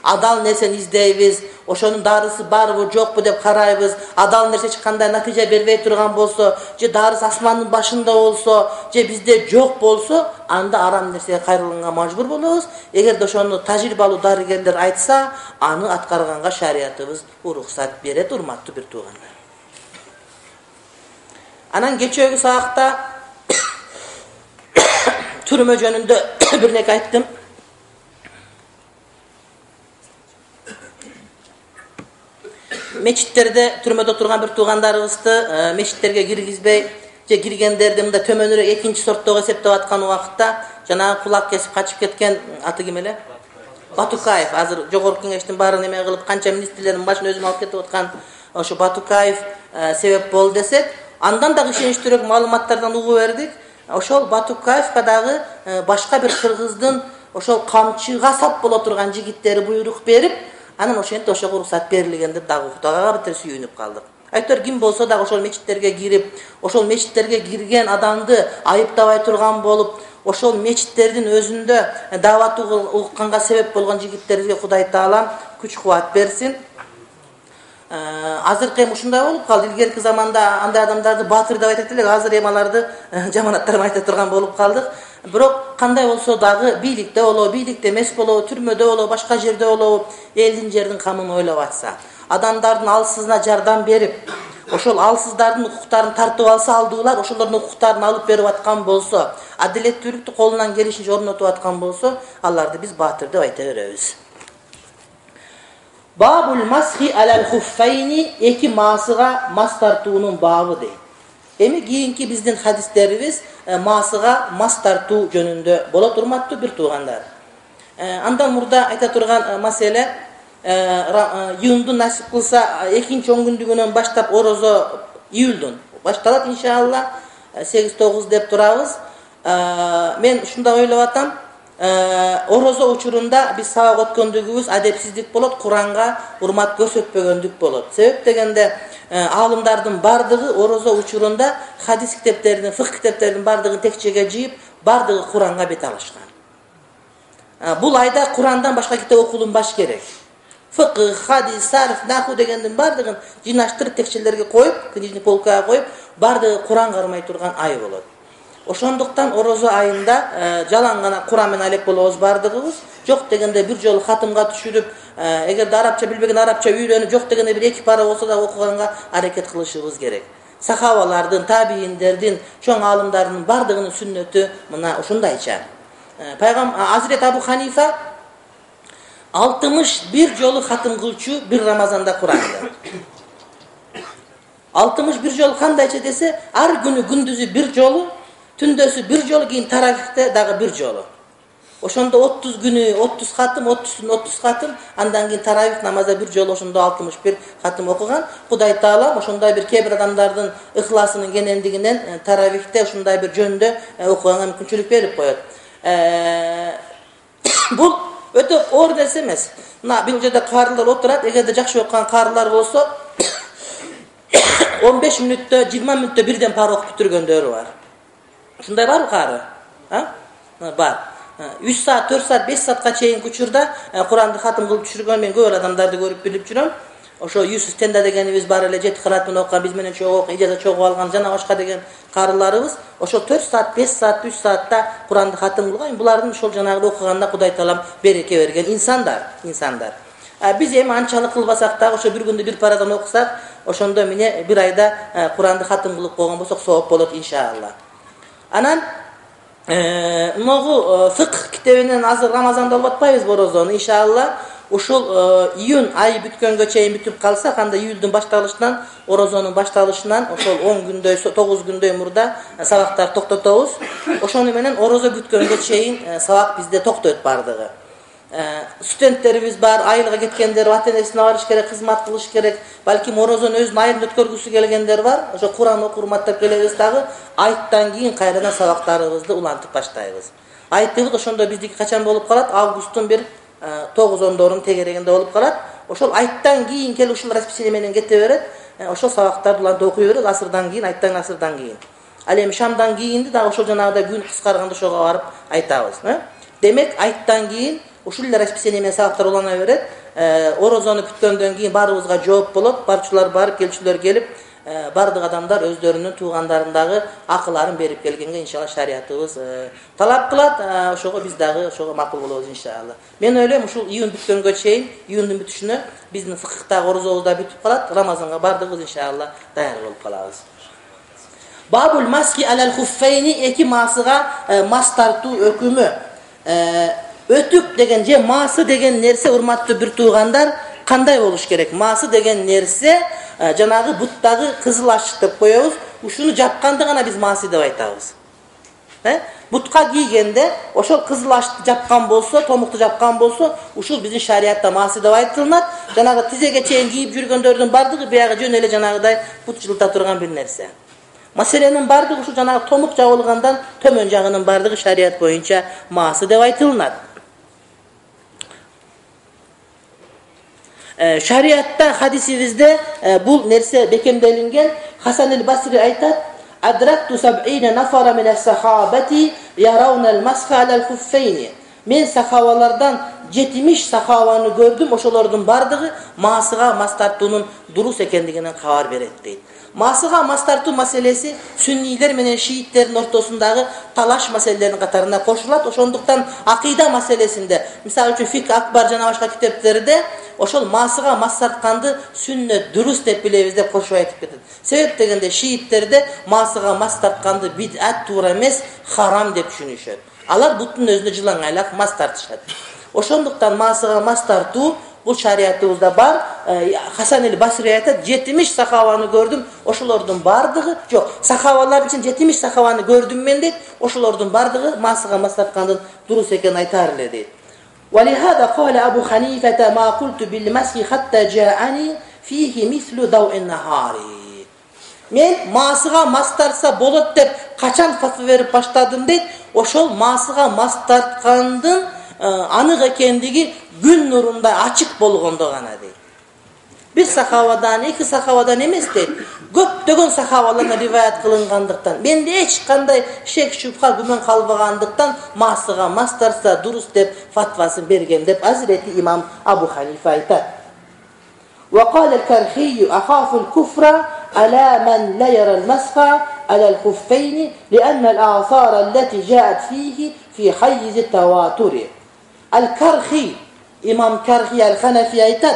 Адал нерсени издейбиз, ошонун дарысы барбы жокпу деп карайбыз. Адал нерсе эч кандай натыйжа бербей турган болсо, же дарысы асмандын башында болсо, же бизде жок болсо, анда арам нерсеге кайрылганга мажбур болобуз. Эгерде ошону тажрыйбалуу дарыгерлер айтса, аны аткарганга шариятыбыз уруксат берет, урматтуу бир туугандар. Анан кечээги саакта түрмө жөнүндө бир неке айттым. Мечиттерде түрмөдө турган бир туугандарыбызды мечиттерге киргизбей, же киргендерди мындай төмөнүрөөк экинчи сорттогу эсептеп аткан убакытта жанагы кулак кесип качып кеткен аты ким эле? Батукаев. Азыр жогорку кеңештин баарын эме кылып канча министрлердин башын өзүнө алып кетип аткан ошо Батукаев себеп болду десек, андан да ишеничтүүрөөк маалыматтардан угуп бердик. ошол Батукаевка дагы башка бир кыргыздын ошол камчыга сап боло турган жигиттери буйрук берип, анан ошентип ошого уруксат берилген деп дагы уктук. Ага бир сүйүнүп калдык. Айтор ким болсо дагы ошол мечиттерге кирип, ошол мечиттерге кирген адамды айыптабай турган болуп, ошол мечиттердин өзүндө дават укканга себеп болгон жигиттерге Кудай Таалам күч кубат берсин. Азыркы эми ушундай болуп калды. Илгерки заманда андай адамдарды баатыр деп айтат элек, азыр эми аларды жаманаттар айта турган болуп калдык. Бирок кандай болсо дагы бийликте болобу, бийликте эмес болобу, түрмөдө болобу, башка жерде болобу, элдин жердин камын ойлоп атса, адамдардын алсызына жардам берип, ошол алсыздардын укуктарын тартып алса, алдуулар ошолордун укуктарын алып берип аткан болсо, адилеттүүлүктү колунан келишинче орнотуп аткан болсо, аларды биз баатыр деп айта беребиз. Бабул масхи алал хуффайни, эки маасыга мас тартуунун бабы дейт. Эми кийинки биздин хадистерибиз маасыга мас тартуу жөнүндө болот, урматтуу бир туугандар. Андан мурда айта турган маселе, июндун насип кылса экинчи он күндүгүнөн баштап орозо июлдун башталат иншалла, сегиз тогуз деп турабыз. Мен ушундай ойлоп атам, орозо учурунда биз сабак өткөндүгүбүз адепсиздик болот, Куранга урмат көрсөтпөгөндүк болот. Себеп дегенде алымдардын бардыгы орозо учурунда хадис китептеринин, фыкh китептеринин бардыгын текчеге жыйып, бардыгы Куранга бет алышкан. Бул айда Курандан башка китеп окулунбаш керек. Фыкh, хадис, сарф, наху дегендин бардыгын жыйнаштырып текчелерге коюп, книжный полкага коюп, бардыгы Куран кармай турган ай болот. Ошондуктан орозо айында жалаң гана Куран менен алек болобуз бардыгыбыз. Жок дегенде бир жолу хатымга түшүрүп, эгерде арабча билбеген арабча үйрөнүп, жок дегенде бир эки пара болсо да окуганга аракет кылышыбыз керек. Сахабалардын, табииндердин, чоң аалымдардын бардыгынын сүннөтү мына ушундайча. Пайгам Азирет Абу Ханифа алтымыш бир жолу хатым кылчу бир Рамазанда Куранды. алтымыш бир жолу кандайча десе, ар күнү күндүзү бир жолу, түндөсү бир жолу, кийин тарафихте дагы бир жолу. Ошондо отуз күнү отуз хатым, отузун отуз хатым, андан кийин тарафих намазда бир жолу ошондо алтымыш бир хатым окуган. Кудай Таалам ошондой бир кээ бир адамдардын ыхласынын кенендигинен тарафихте ушундай бир жөндө окуганга мүмкүнчүлүк берип коет. Бул өтө оор нерсе эмес. Мына бул жерде карылар отурат, эгерде жакшы окуган карылар болсо он беш мүнөттө, жыйырма мүнөттө бирден пара окуп бүтүргөндөрү бар. Ушундай барбы кары? А? Бар. үч саат, төрт саат, беш саатка чейин учурда Куранды хатым кылып түшүргөн мен көп адамдарды көрүп билип жүрөм. Ошо Юсуф Тенда дегенибиз бар эле, жети кырат менен окуган, биз менен чогуу окуп, ижаза чогуу алган жана башка деген карыларыбыз ошо төрт саат, беш саат, үч саатта Куранды хатым кылган. Булардын ошол жанагы окуганда Кудай Таалам береке берген инсандар, инсандар. Биз эми анчалык кылбасак дагы ошо бир күндө бир парадан окусак, ошондо эмне бир айда Куранды хатым кылып койгон болсок сооп болот иншалла. Анан могу фыкh китебинен азыр Рамазанда алып атпайбызбы орозону иншалла. Ушул июнь айы бүткөнгө чейин бүтүп калса, кандай июлдун башталышынан, орозонун башталышынан ошол он күндөй, тогуз күндөй мурда сабактар токтотобуз. Ошону менен орозо бүткөнгө чейин сабак бизде токтойт бардыгы. Студенттерибиз бар, айылга кеткендер, ата-энесине барыш керек, кызмат кылыш керек. Балким орозону өзүнүн айылында өткөргүсү келгендер бар. Ошо Куран окуп урматтап келебиз дагы. Айттан кийин кайрадан сабактарыбызды улантып баштайбыз. Айттыбыз ошондо биздики качан болуп калат? Августтун бир тогуз ондорунун тегерегинде болуп калат. Ошол айттан кийин келип ушул расписание менен кете берет. Ошол сабактарды улантып окуй берет асырдан кийин, айттан асырдан кийин. Ал эми шамдан кийинди дагы ошол жанагыдай күн кыскарганда ошого барып айтабыз. Демек айттан кийин ушул эле расписание менен сабактар улана берет. Орозону бүткөндөн кийин баарыбызга жооп болот. Барчылар барып, келчүлөр келип, бардык адамдар өздөрүнүн туугандарындагы акыларын берип келгенге иншалла шариятыбыз талап кылат. Ошого биз дагы ошого макул болобуз иншалла. Мен ойлойм ушул июнь бүткөнгө чейин, июндун бүтүшүнө биздин фыкхтагы орозобуз да бүтүп калат. Рамазанга бардыгыбыз иншалла даяр болуп калабыз. Бабул маски алал хуффайни, эки маасыга мас тартуу өкүмү. Өтүк деген же маасы деген нерсе, урматтуу бир туугандар, кандай болуш керек? Маасы деген нерсе жанагы буттагы кызыл ашык деп коебуз. Ушуну жапканда гана биз маасы деп айтабыз. Э? Бутка кийгенде ошол кызыл ашыкты жапкан болсо, томукту жапкан болсо, ушул биздин шариятта маасы деп айтылат. Жанагы тизеге чейин кийип жүргөндөрдүн бардыгы биягы жөн эле жанагыдай бут жылыта турган бир нерсе. Маселенин бардыгы ушу жанагы томук жабылгандан төмөн жагынын бардыгы шарият боюнча маасы деп айтылынат. Шариатта, хадисибизде бул нерсе бекемделинген. Хасан аль-Басри айтат: "Адракту саб'ина нафара мин ас-сахабати яравна ал-масха аль-хуффейни." Мен сахабалардан жетимиш сахабаны көрдүм, ошолордун бардыгы маасыга мас тартуунун дурус экендигинен кабар берет дейт. Маасыга мас тартуу маселеси сүннийлер менен шииттердин ортосундагы талаш маселелеринин катарына кошулат. Ошондуктан акыйда маселесинде, мисалы үчүн Фик Акбар жана башка китептерде ошол маасыга мас тартканды сүннөт дурус деп билебиз деп кошуп айтып кетет. Себеп дегенде шииттерде маасыга мас тартканды бид'ат, туура эмес, харам деп түшүнүшөт. Алар буттун өзүнө жылаңайлап мас тартышат. Ошондуктан маасыга мас тартуу бул шариятыбызда бар. Хасан аль-Басри айтат: жетимиш сахабаны көрдүм, ошолордун бардыгы, жок, сахабалар үчүн жетимиш сахабаны көрдүм мен дейт, ошолордун бардыгы маасыга мас тарткандын дурус экенин айтаар эле дейт. ولهذا قال أبو حنيفة ما قلت بالمسح حتى جاءني فيه مثل ضوء النهار. Мен маасыга мас тартса болот деп качан фатва берип баштадым дейт. Ошол маасыга мас тарткандын анык экендиги күн нурундай ачык болгондо гана дейт. Бир сахабадан, эки сахабадан эмес дейт. Көптөгөн сахабалардан риваят кылынгандыктан, менде эч кандай шек шубха күмөн калбагандыктан маасыга мас тартса дурус деп фатвасын берген деп Азирети имам Абу Ханифа айтат. وقال الكرخي أخاف الكفر على من لا يرى المسح على الخفين لأن الآثار التي جاءت فيه في حيز التواتر. الكرخي إمام كرخي الحنفي айтат: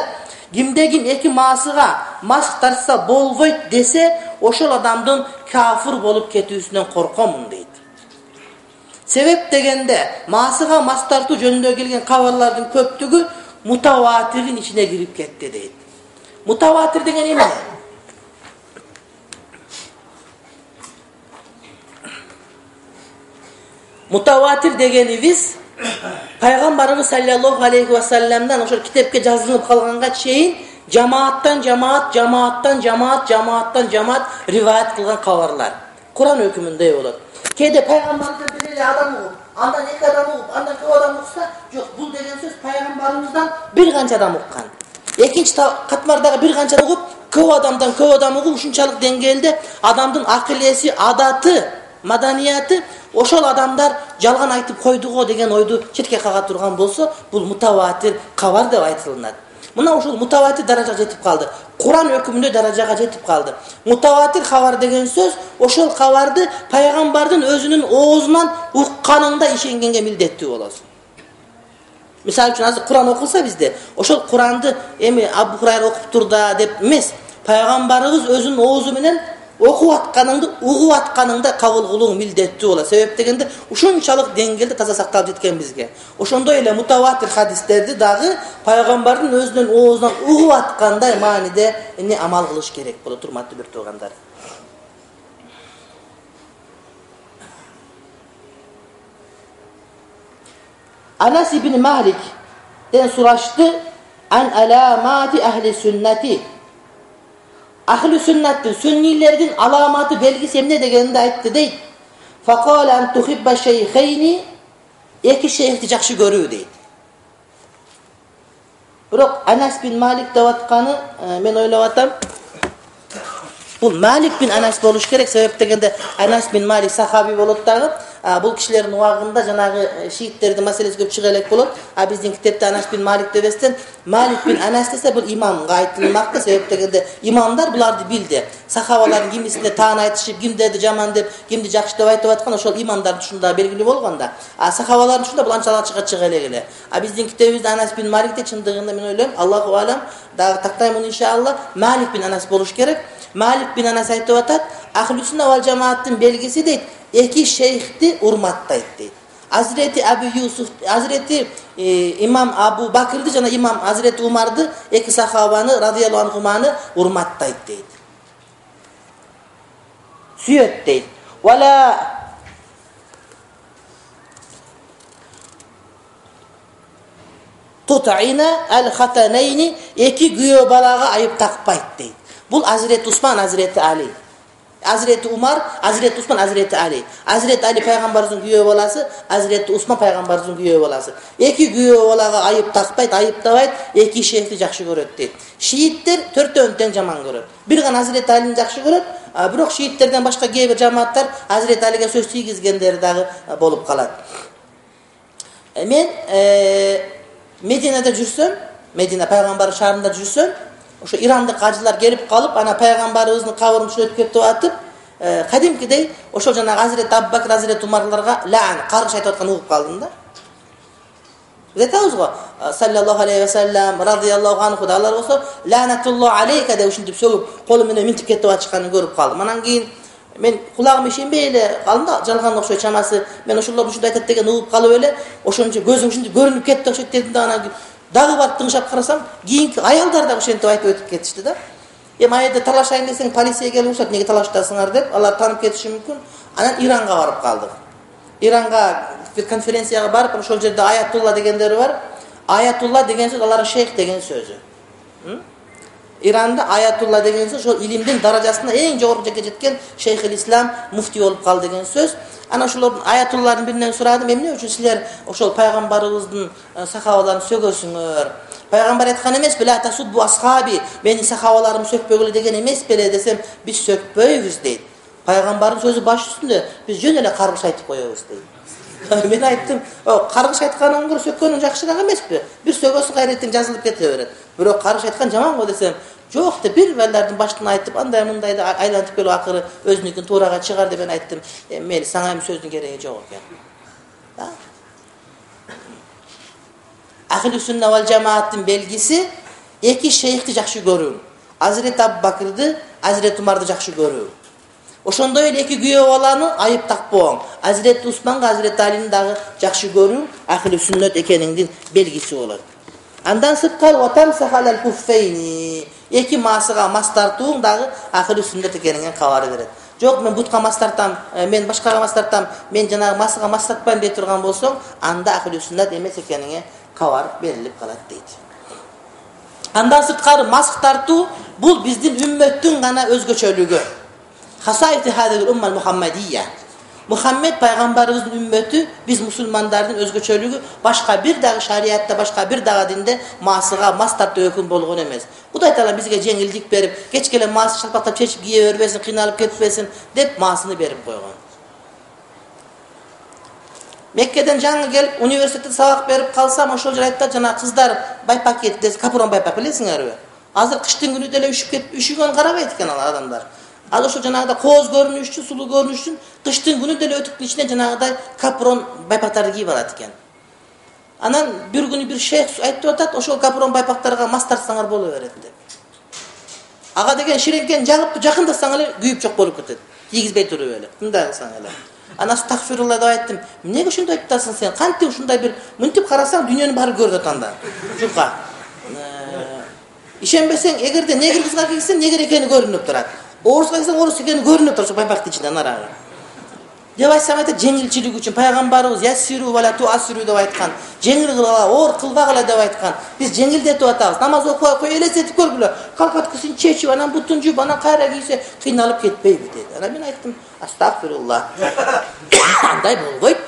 кимдегин эки маасыга мас тартса болбойт десе, ошол адамдын кафир болуп кетүүсүнөн коркомун дейт. Себеп дегенде маасыга мас тартуу жөнүндө келген кабарлардын көптүгү мутаватирдин ичине кирип кетти дейт. Мутаватир деген эмне? Мутаватир дегенибиз Пайгамбарыбыз саллаллаху алейхи ва салламдан ошол китепке жазылып калганга чейин жамааттан жамаат, жамааттан жамаат, жамааттан жамаат риваят кылган кабарлар. Куран өкүмүндөй болот. Кээде пайгамбарыбыздан бир эле адам угуп, андан эки адам угуп, андан көп адам укса, жок, бул деген сөз пайгамбарыбыздан бир канча адам уккан. Экинчи катмардагы бир канча угуп, көп адамдан көп адам угуп, ушунчалык деңгээлде адамдын акылеси, адаты, маданияты ошол адамдар жалган айтып койдуго деген ойду четке кага турган болсо, бул мутаватир кабар деп айтылынат. Мына ошол мутаватир даражага жетип калды. Куран өкүмүндө даражага жетип калды. Мутаватир кабар деген сөз ошол кабарды пайгамбардын өзүнүн оозунан укканыңда ишенгенге милдеттүү болосуң. Мисалы үчүн азыр Куран окулса бизде, ошол Куранды эми Абу Хурайра окуптур да деп эмес, пайгамбарыбыз өзүнүн оозу менен окуп атканыңды, угуп атканыңда кабыл кылуу милдеттүү болот. Себеп дегенде ушунчалык деңгээлде таза сакталып жеткен бизге. Ошондой эле мутаватир хадистерди дагы пайгамбардын өзүнүн оозунан угуп аткандай мааниде эмне амал кылыш керек болот, урматтуу бир туугандар. Анас ибн Малик ден сурашты: "Ан аламати ахли сүннати." Ахли сүннаттын, сүннилердин аламаты, белгиси эмне дегенди айтты дейт. Факала ан тухибба шейхейни, эки шейхти жакшы көрүү дейт. Бирок Анас бин Малик деп атканы мен ойлоп атам, бул Малик бин Анас болуш керек. Себеп дегенде Анас бин Малик сахаби болот дагы. Бул кишилердин убагында жанагы шииттердин маселеси көп чыга элек болот. А биздин китепте Анас бин Малик дебестен Малик бин Анас десе бул имамга айтылмакты. Себеп дегенде имамдар буларды билди. Сахабалардын кимисине таан айтышып, кимдерди жаман деп, кимди жакшы деп айтып аткан ошол имамдардын ушунда белгилүү болгонда. А сахабалардын ушунда бул анчалык чыга чыга элек эле. А биздин китебибизде Анас бин Малик де чындыгында мен ойлойм, Аллаху алам, дагы тактаймын иншалла, Малик бин Анас болуш керек. Малик бин Анас айтып атат: "Ахлу сунна вал жамааттын белгиси дейт, эки шейхти урматтайт" дейт. Азирети Абу Юсуф, Азирети имам Абу Бакырды жана имам Азирети Умарды, эки сахабаны радияллаху анхуманы урматтайт дейт. Сүйөт дейт. Вала тутайна ал-хатанайни, эки күйөө балага айып такпайт дейт. Бул Азирети Усман, Азирети Али. Hazreti Umar, Hazreti Usman, Hazreti Ali. Hazreti Ali пайгамбарыбыздын күйөө баласы, Hazreti Usman пайгамбарыбыздын күйөө баласы. Эки күйөө балага айып такпайт, айыптабайт, эки шейхти жакшы көрөт дейт. Шииттер төртөөнү тең жаман көрөт. Бир гана Hazreti Алини жакшы көрөт, бирок шииттерден башка кээ бир жамааттар Hazreti Алиге сөз тийгизгендери дагы болуп калат. Мен Мединада жүрсөм, Медина пайгамбар шаарында жүрсөм, ошо ирандык ажылар келип калып, ана пайгамбарыбыздын кабырын өтүп кетип атып, кадимкидей ошол жанагы Hazreti Абубакр, Hazreti Умарларга лаан, каргыш айтып аткан угуп калдым да. Биз айтабыз го, саллаллаху алейхи ва саллям, радияллаху анху да алар болсо, лаанатуллаху алейка деп ушинтип сөгүп, колу менен минтип кетип атышканын көрүп калдым. Анан кийин мен кулагым ишенбей эле калдым да, жалган окшойт чамасы. Мен ошолор ушундай айтат деген угуп калып эле, ошончо көзүм ушинтип көрүнүп кетти окшойт дедим да, анан дагы барып тыңшап карасам, кийинки аялдар да ошентип айтып өтүп кетишти да. Эми айда талашайын десең, полиция келип урушат, неге талаштасыңар деп, алар таанып кетиши мүмкүн. Анан Иранга барып калдык. Иранга бир конференцияга барып, ошол жерде аятулла дегендери бар. Аятулла деген сөз алардын шейх деген сөзү. Иранда аятулла деген сөз ошол илимдин даражасына эң жогорку жерге жеткен шейхил ислам, муфти болуп калды деген сөз. Ana ошолордун аятулларын биринен сурадым, эмне үчүн силер ошол пайгамбарыбыздын сахабаларын сөгөсүңөр? Пайгамбар айткан эмес беле, тасуббу асхаби, менин сахабаларым сөкпөгүлө деген эмес беле десем, биз сөкпөйбүз дейт. Пайгамбардын сөзү баш үстүндө, биз жөн эле каргыш айтып коебуз дейт. Мен айттым, каргыш айткандан көрө сөккөнүң жакшыраак эмеспи? Бир сөгөсү кайреттен жазылып кете берет. Бирок каргыш айткан жаман го десем, жок деп бир балдардын башынан айтып, андай мындайды айлантып келип акыры өзүнүкүн туурага чыгар деп мен айттым. Мен сага эми сөздүн кереги жок экен. Ахли сунна вал жамааттын белгиси эки шейхти жакшы көрүү. Hazreti Абубакрды, Hazreti Умарды жакшы көрүү. Ошондой эле эки күйөө баланы айып такпоң. Hazreti Усманга, Hazreti Алини дагы жакшы көрүү ахли суннат экениңдин белгиси болот. Андан сырткары ватам сахалал куффейни. Эки масыга мас тартууң дагы ахли суннат экениңен кабар берет. Жок, мен бутка мас тартам, мен башкага мас тартам, мен жанагы масыга мас тартпайм дей турган болсоң, анда ахли суннат эмес экениңе кабар берилип калат дейт. Андан сырткары мас тартуу бул биздин үммөттүн гана өзгөчөлүгү. Хасайти хадил умма мухаммадия. Мухаммед пайгамбарыбыздын үммөтү, биз мусулмандардын өзгөчөлүгү башка бир дагы шариятта, башка бир дагы динде масыга мас тартуу өкүм болгон эмес. Кудай таала бизге жеңилдик берип, кечкеле мас шалпактап чечип кие бербесин, кыйналып кетпесин деп масыны берип койгон. Меккеден жаңы келип, университетте сабак берип калсам, ошол жер айтат, жана кыздар байпак кийет, капурон байпак билесиңерби? Азыр кыштын күнү деле үшүп кетип, üşүгөн карабайт экен ал адамдар. Ал ошо жанагыда кооз көрүнүш үчүн, сулуу көрүнүш үчүн кыштын күнү деле өтүктүн ичине жанагыдай капурон байпактарды кийип алат экен. Анан бир күнү бир шейх айтып атат, ошол капурон байпактарга мас тартсаңар боло берет деп. Ага деген ширенкен жагып жакындасаң эле күйүп жок болуп кетет. Тийгизбей туруп эле. Мындай кылсаң эле. Ана астагфирулла деп айттым. Эмнеге ошондой айтасың сен? Кантип ушундай бир мынтип карасаң дүйнөнүн баары көрүп атат анда. Жука. Ишенбесең, эгерде негир кызга кийсең, негир экени көрүнүп турат. Орусга кийсең, орус экени көрүнүп турат байпактын ичинен арагы. Деп айтсам айтат, жеңилчилик үчүн пайгамбарыбыз яссиру ва ла туассиру деп айткан. Жеңил кылгыла, оор кылбагыла деп айткан. Биз жеңилдетип атабыз. Намаз окуп кой, элестетип көргүлө. Калкаткысын чечип, анан бутун жууп, анан кайра кийсе, кыйналып кетпейби деди. Анан мен айттым, астагфирулла. Андай болбойт.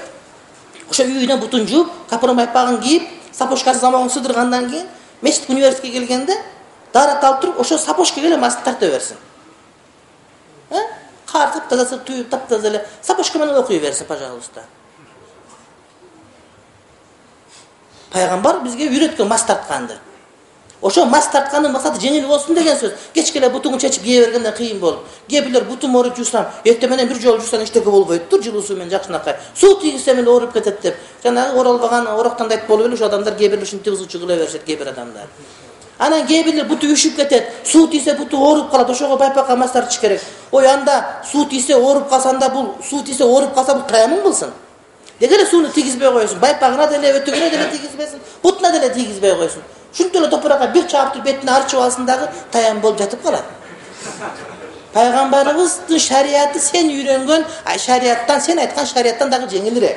Ошо үйүнө бутун жууп, капурон байпагын кийип, сапожкасы замогун сыдыргандан кийин, мешит университетке келгенде дарат алып туруп, ошо сапожкага эле маска тарта берсин. Кар таптаза туюп, таптаза эле сапожка менен окуй берсин, пожалуйста. Пайгамбар бизге үйрөткөн мас тартканды. Ошо мас тарткандын максаты жеңил болсун деген сөз. Кечкеле бутуңу чечип кие бергенде кыйын болуп. Кээ бирлер бутум ооруп жуусам, эртең менен бир жолу жуусаң эчтеке болбойт-тур, жылуу суу менен жакшынакай. Суу тийгизсем эле ооруп кетет деп. Жанагы оролбаган ороктандайт болуп эле ошо адамдар кээ бирлер ушинтип ызычы кыла беришет, кээ бир адамдар. Анан кээ бирлер буту үшүп кетет, суу тийсе буту ооруп калат, ошого байпакка мас тартыш керек. Ой, анда суу тийсе ооруп калсанда бул, суу тийсе ооруп калса бул таямын болсун. Деге эле сууну тийгизбей койсун, байпагына деле, өтөгүнө деле тийгизбесин, бутуна деле тийгизбей койсун. Ушинтип эле топуракка бир чаап туруп бетине арчып алсын дагы таям болуп жатып калат. Пайгамбарыбыздын шарияты сен үйрөнгөн шарияттан, сен айткан шарияттан дагы жеңилирээк.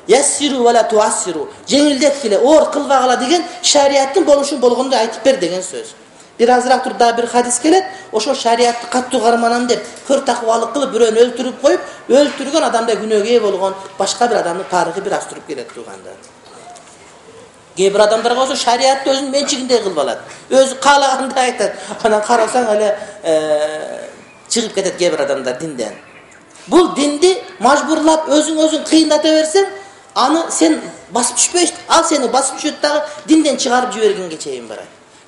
Яссиру ва ла туассиру. Жеңилдеткиле, оор кылбагыла деген шарияттын болушун болгондой айтып бер деген сөз. бир азыраак туруп дагы бир хадис келет. Ошо шариятты каттуу карманам деп көр такыбалык кылып бирөөнү өлтүрүп коюп, өлтүргөн адамда күнөөгө ээ болгон башка бир адамдын тарыхы бир аз туруп келет туугандар. Кээ бир адамдарга болсо шариятты өзүнүн менчигиндей кылып алат. Өзү каалагандай айтат. Анан карасаң эле чыгып кетет кээ бир адамдар динден. Бул динди мажбурлап өзүң өзүң кыйындата берсең, аны сен басып түшпөйсүң. Ал сени басып түшөт дагы динден чыгарып жибергенге чейин барат.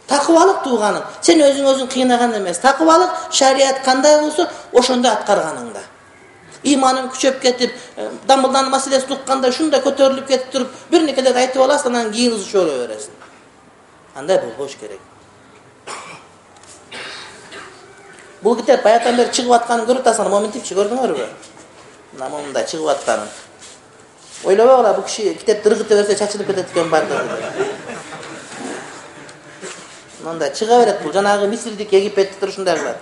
Такыбалык тууганың, сен өзүң өзүң кыйнаган эмес. Такыбалык шарият кандай болсо, ошондой аткарганыңда. Иманың күчөп кетип, дамылдан маселесин укканда шундай көтөрүлүп кетип туруп, бир некелерди айтып аласың, анан кийин ушола бересиң. Андай болбош керек. Бул китеп баягыдан бери чыгып атканын көрүп атасың, моментипчи көрдүңөрбү? Мына мондай чыгып атканын. Ойлобогула, бул киши китепти ыргыта берсе чачылып кетет экен барды. Мындай чыга берет бул. Жанагы Мисирдик, Египеттик ушундай кылат.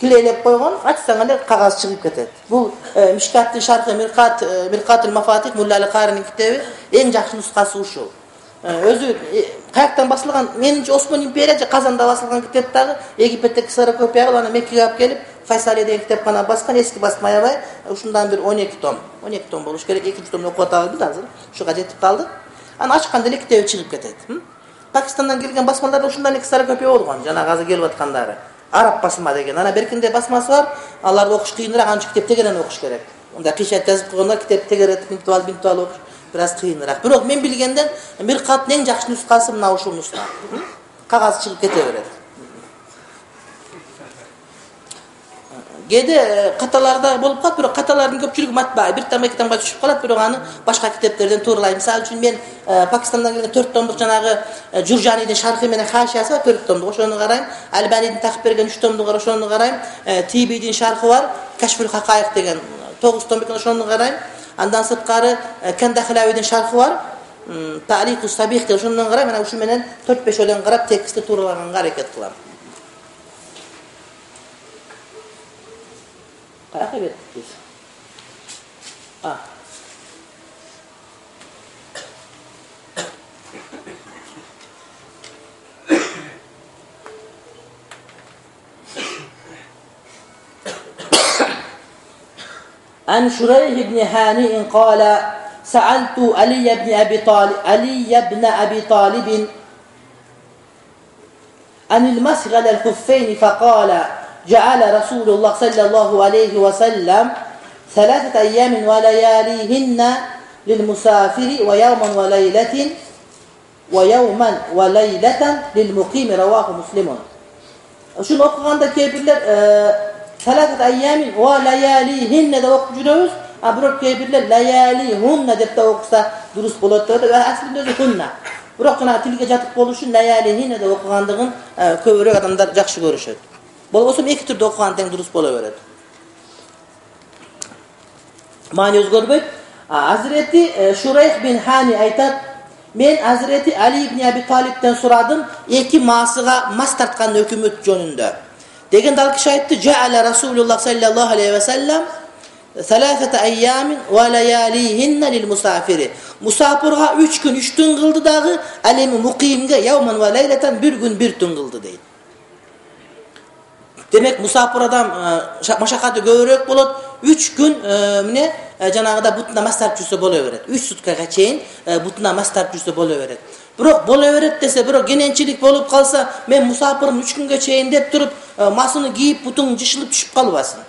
Килейлеп койгон, ачсаң эле кагаз чыгып кетет. Бул Мишкаттын шархы Миркат Миркатул Мафатих Мулла Аль-Каринин китеби, эң жакшы нускасы ушул. Өзү каяктан басылган, менимче Осман империя же Казанда басылган китеп дагы Египеттеги ксерокопия аны Меккеге алып келип, Файсали деген китепкана баскан, эски басма аябай, ушундан бир он эки том. он эки том болуш керек, экинчи томду окуп атабыз азыр. Ушуга жетип калдык. Аны ачканда эле китеби чыгып кетет. Пакистандан келген басмаларда ушундан эле ксерокопия болгон, жанагы азыр келип аткандары. Араб басма деген. Ана беркинде басмасы бар, аларды окуш кыйыныраак, анча китеп тегерен окуш керек. Онда кыйшат жазып койгондор китеп тегеретип минтип алып, минтип алып окуш бир аз кыйыныраак. Бирок мен билгенден Миркаттын эң жакшы нускасы мына ушул нуска. Кагаз чыгып кете берет. Кээде каталарда болуп калат, бирок каталардын көпчүлүгү матбаа, бир тамга эки тамга түшүп калат, бирок аны башка китептерден тууралайм. Мисалы үчүн мен Пакистандан келген төрт томдук жанагы Журжанидин шархы менен хашиясы бар, төрт томдук, ошону карайм. Альбанидин такып берген үч томдук бар, ошону карайм. Тибидин шархы бар, Кашфул Хакайык деген тогуз том экен, ошону карайм. Андан сырткары Кандахлавидин шархы бар, Та'лиқус Сабих деген, ошону карайм. Мына ушу менен төрт беш өлең карап текстти тууралаганга аракет кылам. Каяка кеттик? А. عن شريح بن هانئ قال سألت علي بن أبي طالب علي بن أبي طالب عن المسح على الخفين فقال جعل رسول الله صلى الله عليه وسلم ثلاثة أيام ولياليهن للمسافر ويوما وليلة ويوما وليلة للمقيم رواه مسلم. Şunu okuganda kebirler ثلاثة أيام ولياليهن de okuyup жүрөбүz. А бирок кебирлер лаялихунна деп да окуса дурус болот деп, аслында өзү хунна. Бирок жана тилге жатып болушу лаялихинна деп окугандыгын көбүрөөк адамдар жакшы көрүшөт. Болбосо эки түрдө окуган тең дурус боло берет. Маани өзгөрбөйт. Hazreti Şureyh bin Hani айтат, мен Hazreti Ali ibn Abi Talib'den сурадым эки маасыга мас тарткан өкмөт жөнүндө. Дегенде ал киши айтты: "Жа'ала Расулуллах саллаллаху алейхи ва саллам ثلاثة أيام ولياليهن للمسافر." Musafirga üç gün üç tün kıldı dağı, alemi mukimge yavman ve leyleten bir gün bir tün kıldı deydi. Demek musafir adam maşakatı göbürөөк bolot, üç gün mine janagıda butuna mas tartışsa bolo beret. üç sutkaga çeyin butuna mas tartışsa bolo beret. Bирок боло берет десе, бирок кененчилик болуп калса, мен мусафирмин үч күнгө чейин деп туруп, масыны кийип, бутуң жышылып түшүп калбасын.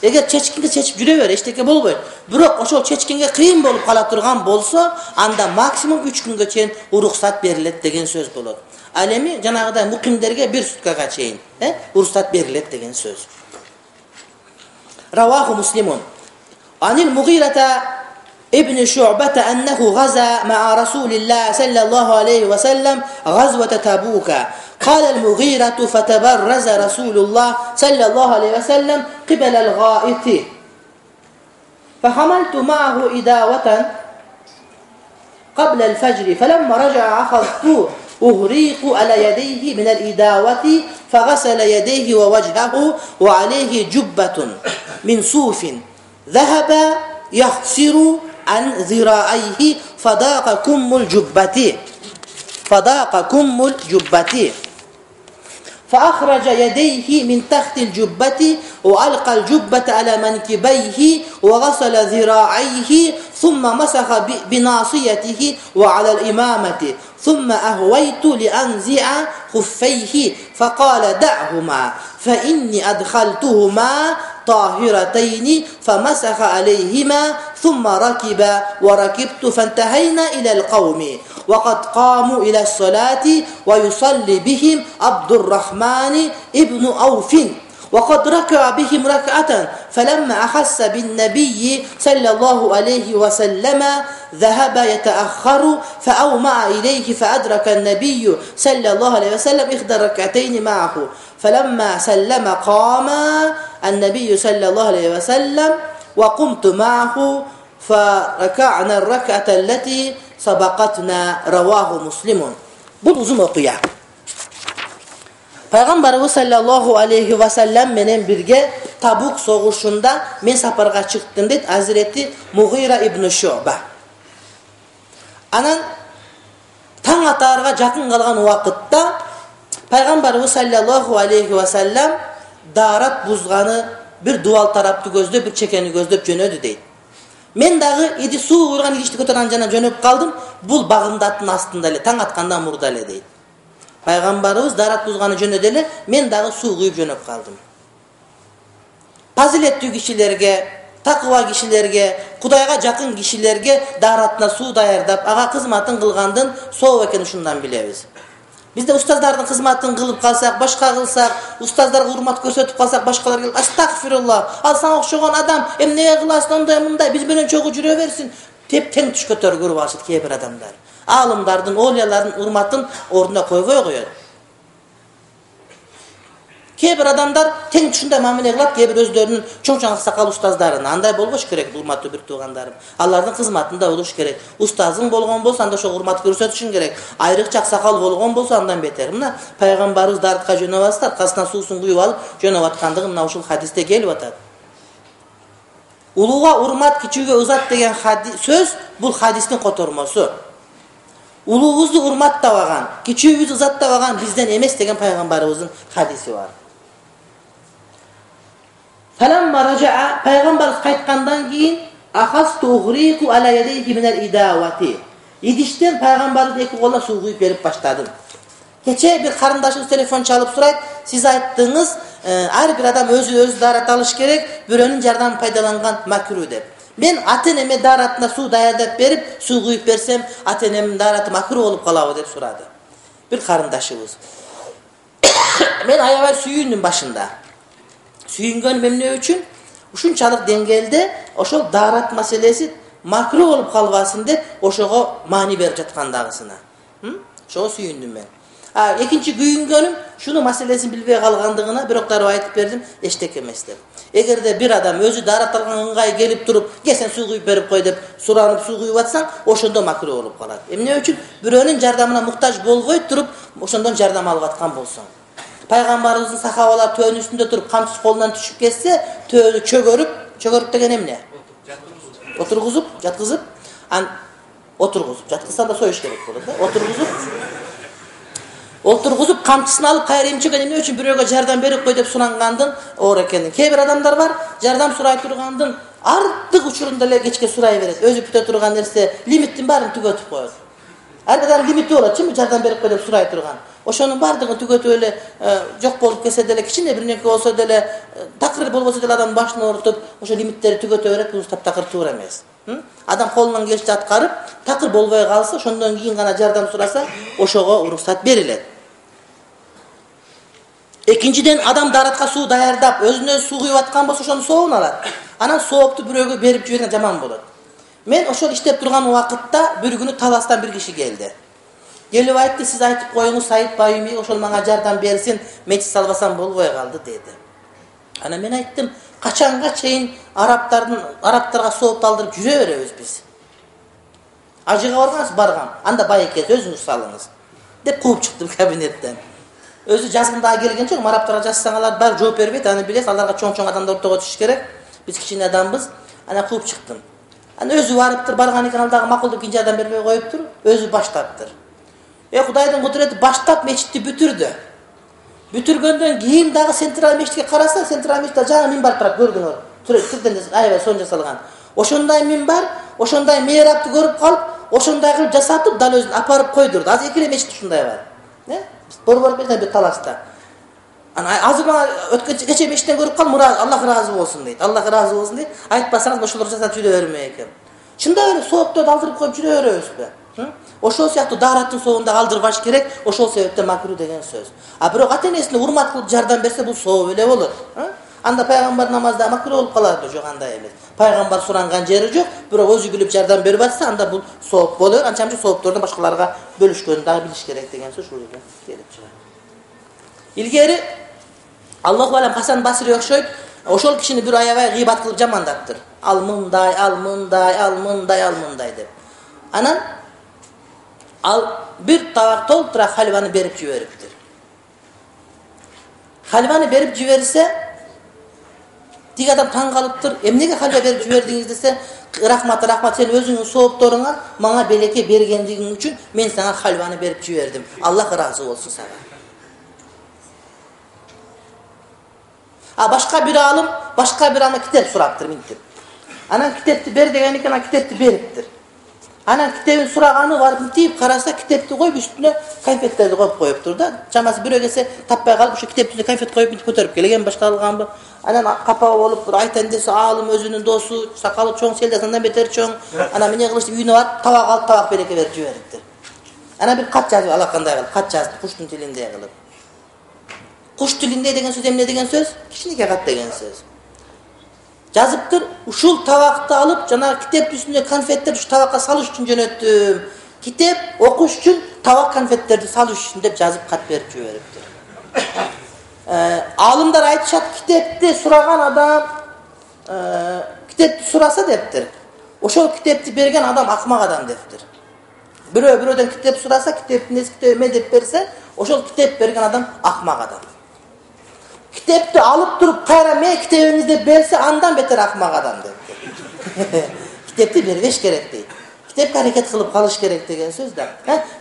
Эгер чечкинге чечип жүрө бер, эчтеке болбойт. Бирок ошол чечкинге кыйын болуп кала турган болсо, анда максимум үч күнгө чейин уруксат берилет деген сөз болот. Ал эми жанагыдай мукимдерге бир суткага чейин, э, уруксат берилет деген сөз. Раваху Муслимун. Анил Мугирата ابن شعبة أنه غزا مع رسول الله صلى الله عليه وسلم غزوة تبوك. قال المغيرة: فتبرز رسول الله صلى الله عليه وسلم قبل الغائط فحملت معه إداوة قبل الفجر فلما رجع أخذت أهريق على يديه من الإداوة فغسل يديه ووجهه وعليه جبة من صوف ذهب يخسر عن ذراعيه فضاق كم الجبة فضاق كم الجبة فأخرج يديه من تحت الجبة وألقى الجبة على منكبيه وغسل ذراعيه ثم مسح بناصيته وعلى الإمامة ثم أهويت لأنزع خفيه فقال دعهما فإني أدخلتهما طاهرتين فمسح عليهما ثم ركب وركبت فانتهينا إلى القوم وقد قاموا إلى الصلاة ويصلي بهم عبد الرحمن ابن عوف وقد ركع بهم ركعة فلما أحس بالنبي صلى الله عليه وسلم ذهب يتأخر فأومأ إليه فأدرك النبي صلى الله عليه وسلم إحدى ركعتين معه فلما سلم قام النبي صلى الله عليه وسلم وقمت معه فركعنا الركعة التي سبقتنا رواه مسلم. Bu uzun okuya. Peygamberimiz sallallahu aleyhi ve sellem menen birge Tabuk soğuşunda men saparga çıktım dedi Hazreti Mughira ibn Şuba. Anan taң atарга жақын қалған уақытта Peygamberimiz sallallahu aleyhi ve sellem daarат бузганы bir dual tarapты көздөп, bir çekeni көздөп жөнөдү дейт. Мен дагы иди суу куйган идишти көтөргөн жана жөнөп калдым. Бул багымдаттын астында эле, таң аткандан мурда эле дейт. Пайгамбарыбыз дарат бузганы жөнөдө эле, мен дагы суу куюп жөнөп калдым. Фазилеттүү кишилерге, такыба кишилерге, Кудайга жакын кишилерге даратына суу даярдап, ага кызматын кылгандын соо экенин ушундан билебиз. Бизде устаздардын кызматын кылып калсак, башка кылсак, устаздарга урмат көрсөтүп калсак, башкалар келип, "Астагфирулла, ал сага окшогон адам, эмне кыласың ондай мындай, биз менен чогуу жүрө берсин" деп тең түш көтөргөрүп алышат кээ бир адамдар. Алымдардын, олиялардын урматын ордуна койбой коёт. Кээ бир адамдар тең түшүндөй мамиле кылат, кээ бир өздөрүнүн чоң-чоң аксакал устаздарына. Андай болбош керек, урматтуу бир туугандарым. Алардын кызматында болуш керек. Устазың болгон болсо, анда ошо урмат көрсөтүшүң керек. Айрыкча аксакал болгон болсо, андан бетер. Мына пайгамбарыбыз даратка жөнөп атса, аркасынан суусун куюп алып жөнөп аткандыгы мына ушул хадисте келип атат. Улууга урмат, кичүүгө ызат деген сөз бул хадистин котормосу. Улуубузду урматтабаган, кичүүбүздү ызаттабаган бизден эмес деген пайгамбарыбыздын хадиси бар. Falamma raja'a Peygamber kaytkandan keyin ahas tughriqu ala yadayhi min al-idawati. İdişten Peygamber'in iki koluna su kuyup verip başladım. Keçe bir karındaşınız telefon çalıp sorayt, siz ayttığınız e, her bir adam özü özü darat alış gerek, bürönün jardan paydalangan makruh dep. Ben ateneme daratına su dayadap verip su kuyup versem atenemin daratı makruh olup kalabı dep soradı. Bir karındaşımız. Ben ayavay suyunun başında. Suyungan memne üçün uşunçalık dengelde oşol daarat maselesi makruh olup kalbasın dep oşogo mani berip jatkandagısına. Hı? Şogo suyundum ben. Ha, ikinci güyüngönüm şunu maselesini bilbey kalgandığına bir oktarı aytıp verdim, eştek emes dep. Egerde bir adam özü daarat algan ыңгай gelip durup, "Gel sen su kuyup berip koy" dep suranıp su kuyup atsan, oşondo makruh olup kalat. Emne üçün biröөнүн jardamına muhtaç bolbой turup, oşondon jardam alıp atkan bolsоң. Peygamberimizin sahabalar töğün üstünde durup kamçısı kolundan düşüp geçse töğünü çögörüp, çögörüp degen emne? Oturguzup, jatkızıp, an oturguzup, jatkızsan da soyuş gerek olur da. Oturguzup, oturguzup kamçısını alıp kayırayım çögen emne üçün biröөгө jardam berip koy dep surangandın oor ekendin. Kээ бир адамдар бар, jardam suray turgandın артык учурунда эле кечке сурай берет. Өзү бүтө турган нерсе лимиттин баарын түгөтүп коет. Ар бир лимити болот, чынбы жардам берип коy деп сурай турган. Ошонун бардыгын түгөтүп эле жок болуп кетсе деле, кичине бир нерсе болсо деле, такыр болбосо деле адам башын оорутуп, ошо лимиттерди түгөтө берет, бул таптакыр туура эмес. Адам колунан келишинче аткарып, такыр болбой калса, ошондон кийин гана жардам сураса, ошого уруксат берилет. Экинчиден адам даратка суу даярдап, өзүнө суу куюп аткан болсо, ошонун сообун алат. Анан соопту бирөөгө берип жиберген жаман болот. Мен ошол иштеп турган убакытта bir күнү Таластан bir киши келди. Gelip aytты, siz aytıp koyunuz Said Bayumi, ошол мага жардам берсин, мечит салбасам болбой калды деди. Ana men ayttım, kaçanga çeyin Araptardын Araptarga сооп алдырып жүрө беребиz биз. Ажыга баргансыз, баргам. Анда бай экенсиз, өзүңүз салыңыз. Деп кууп чыктым кабинеттен. Өзү жазгында келген жок, Араптарга жазсаң алар бар жооп бербейт, аны билесиз, аларга чоң-чоң адамдар ортого түшүш керек. Биз кичине адамбыз. Ана кууп чыктым. Ана өзү барыптыр, барган экен, алдагы макулдук кинчи адам бербей коюптур, өзү баштаптыр. Э Кудайдын кудурети баштап мечитти бүтүрдү. Бүтүргөндөн кийин дагы Централ мечитке караса, Централ мечитте жаңы минбар турат, көрдүңөр. Түрдөн аябай сонун жасалган. Ошондой минбар, ошондой мейрапты көрүп калып, ошондой кылып жасатып, дал өзүн апарып койдурду. Азыр эки эле мечит ушундай бар. Э? Борбор менен бир талашта. Ана азыр мага өткөн кече мечиттен көрүп калдым, Аллах ыраазы болсун дейт. Аллах ыраазы болсун дейт. Айтпасаңыз ошолорду жасап жүрө берме экен. Чындап эле соопторду алдырып коюп жүрө беребизби? Ошол сыяктуу даараттын соогунда алдырбаш керек, ошол себептен макру деген сөз. А бирок ата-энесине урмат кылып жардам берсе, бул сооп эле болот. Анда пайгамбар намазда макру болуп калат, жок андай эмес. Пайгамбар суранган жери жок, бирок өзү билип жардам берип атса, анда бул сооп болот. Анчамчы соопторду башкаларга бөлүшкөнүн дагы билиш керек деген сөз ушул жерден келип чыгат. Илгери Аллаху алам Хасан Басри окшойт, ошол кишини бир аябай гыйбат кылып жамандаптыр. Ал мындай, ал мындай, ал мындай, ал мындай деп. Анан ал бир табак толтура хальваны берип жибериптир. Хальваны берип жиберсе, тиги адам таң калыптыр. Эмнеге хальва берип жибердиңиз десе, рахмат, рахмат, сен өзүңүн соопторуңа мага белекке бергендигиң үчүн мен сага хальваны берип жибердим. Аллах ыраазы болсун сага. А башка бир алым, башка бир ана китеп сураптыр минтип. Анан китепти бер деген экен, ана китепти бериптир. Анан китебин сураганы барып мынтип караса, китепти коюп үстүнө конфеттерди коюп коюптур да. Чамасы бирөө келсе таппай калып, ошо китептин конфет коюп мынтип көтөрүп келген башка алганбы. Анан капа болуп тур, айтан десе алым өзүнүн досу, сакалы чоң, селдеси андан бетер чоң. Анан эмне кылышты, үйүнө барып табак алып, табак береке берип жибериптир. Анан бир кат жазып, алакандай кылып кат жазды, куштун тилинде кылып. Куш тилинде деген сөз эмне деген сөз? Кичинекей кат деген сөз. Жазыптыр, ушул табакты алып, жана китептин үстүнө конфеттерди ушу табакка салыш үчүн жөнөттүм. Китеп окуш үчүн, табак конфеттерди салыш үчүн деп жазып кат берип жибериптир. Э, алымдар айтышат, китепти сураган адам, э, китепти сураса дептир. Ошол китепти берген адам акмак адам дептир. Бирөө бирөөдөн китеп сураса, китептин эски китеби эме деп берсе, ошол китеп берген адам акмак адам. Китепти алып туруп кайра мен китебиңизди деп берсе, андан бетер акмак адам деп. Китепти бербеш керек дейт. Китепке аракет кылып калыш керек деген сөз да.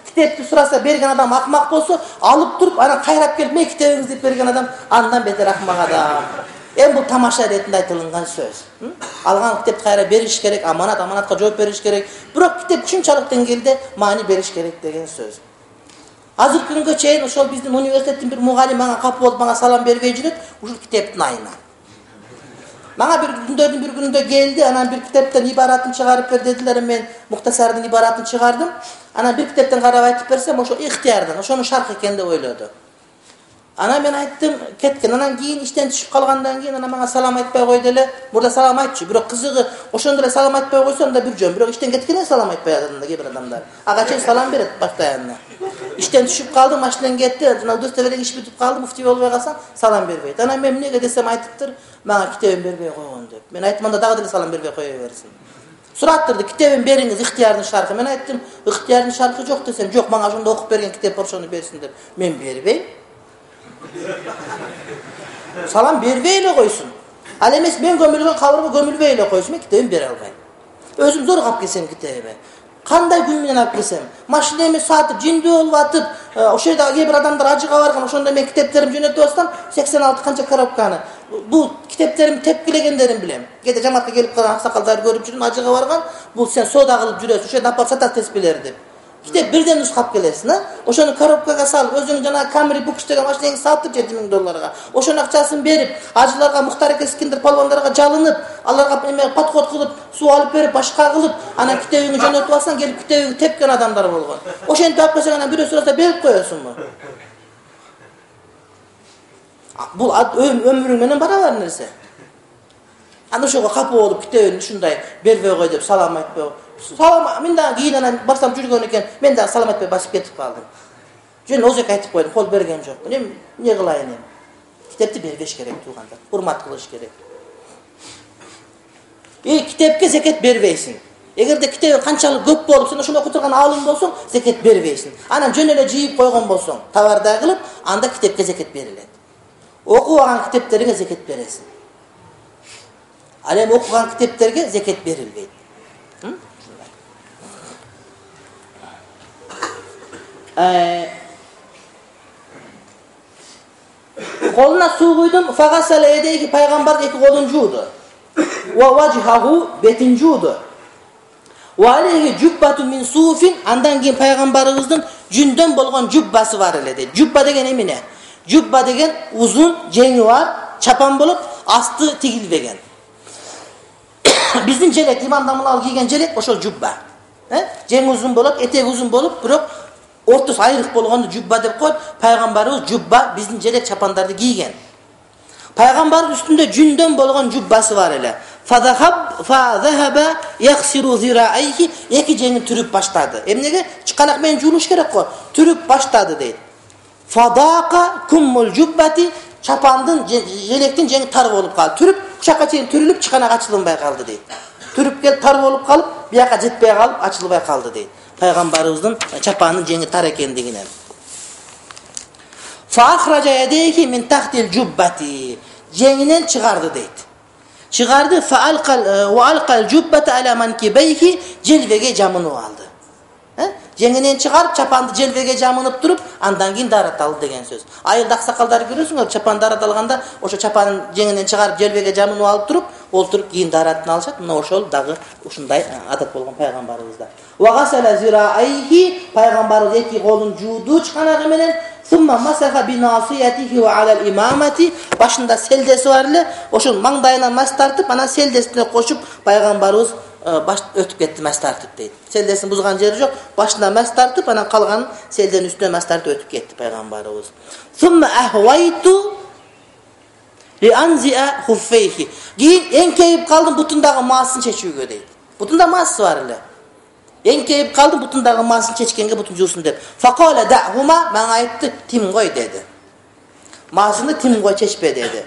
Китепти сураса берген адам акмак болсо, алып туруп анан кайрап келип мен китебиңизди деп берген адам андан бетер акмак адам. Эми бул тамаша иретинде айтылган сөз. Алган китепти кайра бериш керек, аманат аманатка жооп бериш керек. Бирок китеп ушунчалык деңгээлде маани бериш керек деген сөз. Азыр күнгө чейин ошол биздин университеттин бир мугалим мага капы болуп мага салам бербей жүрөт, ушул китептин айынан. Мага бир күндөрдүн бир күнүндө келди, анан бир китептен ибаратын чыгарып бер дедилер, мен Муктасардын ибаратын чыгардым. Анан бир китептен карап айтып берсем, ошо Ихтиярдан, ошонун шарх экен деп ойлоду. Анан мен айттым, кеткен. Анан кийин иштен түшүп калгандан кийин анан мага салам айтпай койду эле. Мурда салам айтчу, бирок кызыгы ошондо эле салам айтпай койсо анда бир жөн. Бирок иштен кеткенде салам айтпай атат кээ бир адамдар. Ага чейин салам берет постоянно. Иштен түшүп калдым, машинен кетти, жана удостоверение иш бүтүп калды, муфтий болбой калсаң салам бербейт. Анан мен эмнеге десем айтыптыр, мага китебин бербей койгон деп. Мен айттым, анда дагы деле салам бербей кое берсин. Сураттырды, китебин бериңиз, Ихтиярдын шархы. Мен айттым, Ихтиярдын шархы жок десем, жок, мага ошондо окуп берген китеп бар, ошону берсин деп. Мен бербейм. Салам бербей эле койсун. Ал эмес мен көмүлгөн кабырга көмүлбөй эле койсун, мен китебин бере албайм. Өзүм зор калып келсем китебиме. Кандай күн менен алып келсем, машинеми сатып, жиндүү болуп атып, ошол жерде кээ бир адамдар ажыга барган, ошондо мен китептеримди жөнөтүп атсам, сексен алты канча коробканы. Бул китептеримди тепкилегендерин билем. Кээде жамаатка келип калган аксакалдар көрүп жүрүм, ажыга барган, бул сен соода кылып жүрөсүң, ошо жерде апарып сатат теспилер деп. Китеп бирден нускап келесиң, а? Ошону коробкага салып, өзүң жана Camry Books деген машинеңди сатып жети миң долларга. Ошонун акчасын берип, ажыларга, Мухтар эке Искендер палвандарга жалынып, аларга эме подход кылып, суу алып берип, башка кылып, анан китебиңди жөнөтүп алсаң, келип китебиңди тепкен адамдар болгон. Ошентип алып койсоң, анан бирөө сураса берип коесуңбу? Бул өмүрүң менен барабар нерсе. Аны ошого капы болуп, китебин ушундай бербей кой деп салам айтпай. Салам, мен дагы кийин анан барсам жүргөн экен, мен дагы салам айтпай басып кетип калдым. Жөн озек айтып койдум, кол берген жокмун. Эми эмне кылайын эми? Китепти бербеш керек туугандар, урмат кылыш керек. И китепке зекет бербейсиң. Эгерде китебиң канчалык көп болуп, сен ошону окуп турган алым болсоң, зекет бербейсиң. Анан жөн эле жыйып койгон болсоң, товардай кылып, анда китепке зекет берилет. Окубаган китептериңе зекет бересиң. Ал эми окуган китептерге зекет берилбейт. Колуна суу куйдум, фагасала едейки, пайгамбар эки колун жууду. Ва важхаху, бетин жууду. Ва алейхи жуббату мин суфин, андан кийин пайгамбарыбыздын жүндөн болгон жуббасы бар эле дейт. Жубба деген эмне? Жубба деген узун, жеңи бар, чапан болуп, асты тигилбеген. Биздин желек, имам дамылал кийген желек ошол жубба. Э? Жеңи узун болуп, этеги узун болуп, бирок ортосу айрык болгонду жубба деп коет. Пайгамбарыбыз жубба биздин желек чапандарды кийген. Пайгамбардын үстүндө жүндөн болгон жуббасы бар эле. Фадахаб фадахаба яхсиру зираайхи, эки жеңин түрүп баштады. Эмнеге? Чыканак менен жуулуш керек го. Түрүп баштады дейт. Фадака куммул жуббати, чапандын желектин жеңи тар болуп калды. Түрүп кучакка чейин түрүлүп чыканак ачылынбай калды дейт. Түрүп келип тар болуп калып, бияка жетпей калып ачылбай калды дейт. Пайгамбарыбыздын чапанынын жеңи тар экендигинен. Фахража ядейхи мин тахтил жуббати, жеңинен чыгарды дейт. Чыгарды фаалкал ва алкал жуббата ала манкибейхи, желбеге жамынып алды. Э? Жеңинен чыгарып чапанды желбеге жамынып туруп, андан кийин дараталды деген сөз. Айылда аксакалдар көрөсүңөр, чапан дараталганда, ошо чапанын жеңинен чыгарып желбеге жамынып алып туруп, олтуруп кийин даратын алышат. Мына ошол дагы ушундай адат болгон пайгамбарыбызда. Ва гасала зираайхи, пайгамбарыбыз эки колун жууду чыканагы менен. Сумма масаха би насиятихи ва алал имамати, башында селдеси бар эле, ошол маңдайынан мас тартып, анан селдесине кошуп пайгамбарыбыз баш өтүп кетти, мас тартып дейт. Селдесин бузган жери жок, башында мас тартып, анан калганын селденин үстүнө мас тартып өтүп кетти пайгамбарыбыз. Сумма ахвайту ли анзиа хуффейхи, кийин эңкейип калдым бутундагы маасын чечүүгө дейт. Бутунда маасы бар эле. Эңкейип калдым бутундагы маасын чечкенге бутун жуусун деп. Факала дa'хума, мага айтты, тим кой деди. Маасыны тим кой, чечпе деди.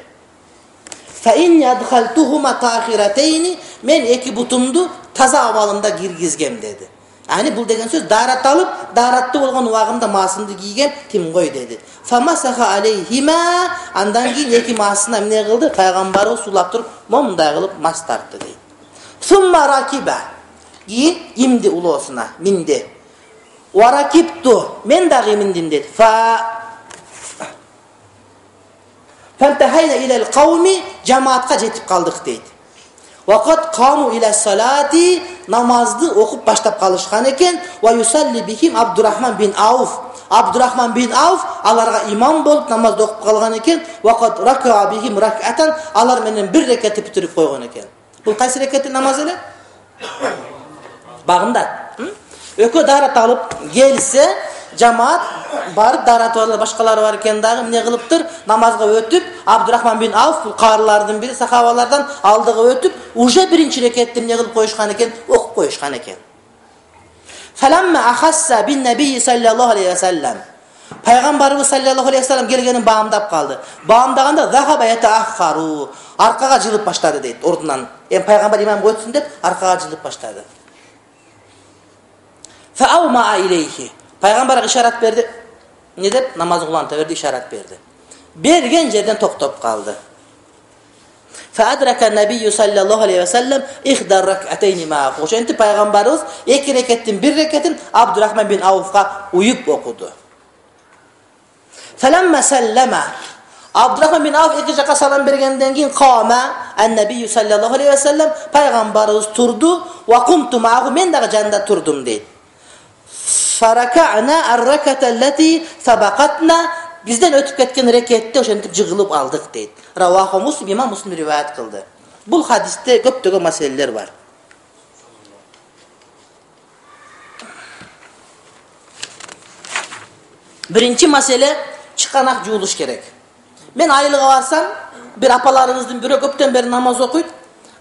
Fa in yadkhaltuhuma ta'khiratayni, men эки бутумду таза абалында киргизгем деди. Ани бул деген сөз дараталып, даратты болгон убагымда маасымды кийген, тим кой деди. Фамасаха алейхима, андан кийин эки маасына эмне кылды? Пайгамбарыбыз сулап туруп, момундай кылып мас тартты дейт. Сумма ракиба, кийин имди улоосуна, минди. Варакипту, мен дагы миндим дейт. Фа Фантахайна илал кауми, жамаатка жетип калдык дейт. Вакат каму ила салати, намазды окуп баштап калышкан экен. Ва юсалли бихим Абдурахман бин Ауф. Абдурахман бин Ауф аларга имам болуп намазды окуп калган экен. Вакат рака бихим ракатан, алар менен бир рекат бүтүрүп койгон экен. Бул кайсы рекаттын намазы эле? Багында. Өкө дарат алып келсе, жамаат барып дарат алып башкалары бар экен дагы эмне кылыптыр? Намазга өтүп, Абдурахман бин Ауф бул каарылардын бири, сахабалардан алдыга өтүп, уже биринчи рекетти эмне кылып коюшкан экен? Окуп коюшкан экен. Фаламма ахасса бин набий саллаллаху алейхи ва саллам. Пайгамбарыбыз саллаллаху алейхи ва саллам келгенин баамдап калды. Баамдаганда захаба ятаахару, аркага жылып баштады дейт, ордунан. Эми пайгамбар имам өтсүн деп аркага жылып баштады. Фааума илейхи, пайгамбарга ишарат берди. Не деп? Намаз кыланта берди, ишарат берди. Берген жерден токтоп калды. Фаадрака набий саллаллаху алейхи ва саллам ихдар ракатайни ма. Ошентип пайгамбарыбыз эки рекеттин бир рекетин Абдурахман бин Ауфка уюп окуду. Фаламма саллама, Абдурахман бин Ауф эки жака салам бергенден кийин кама ан-набий саллаллаху алейхи ва саллам, пайгамбарыбыз турду, ва кумту мa'ху, мен дагы жанында турдум дейт. Фаракана ар-раката аллати сабакатна, бизден өтүп кеткен рекетти ошентип жыгылып алдык дейт. Раваху Муслим, имам Муслим риваят кылды. Бул хадисте көптөгөн маселелер бар. Биринчи маселе, чыканак жуулуш керек. Мен айылга барсам, бир апаларыбыздын бирөө көптөн бери намаз окуйт.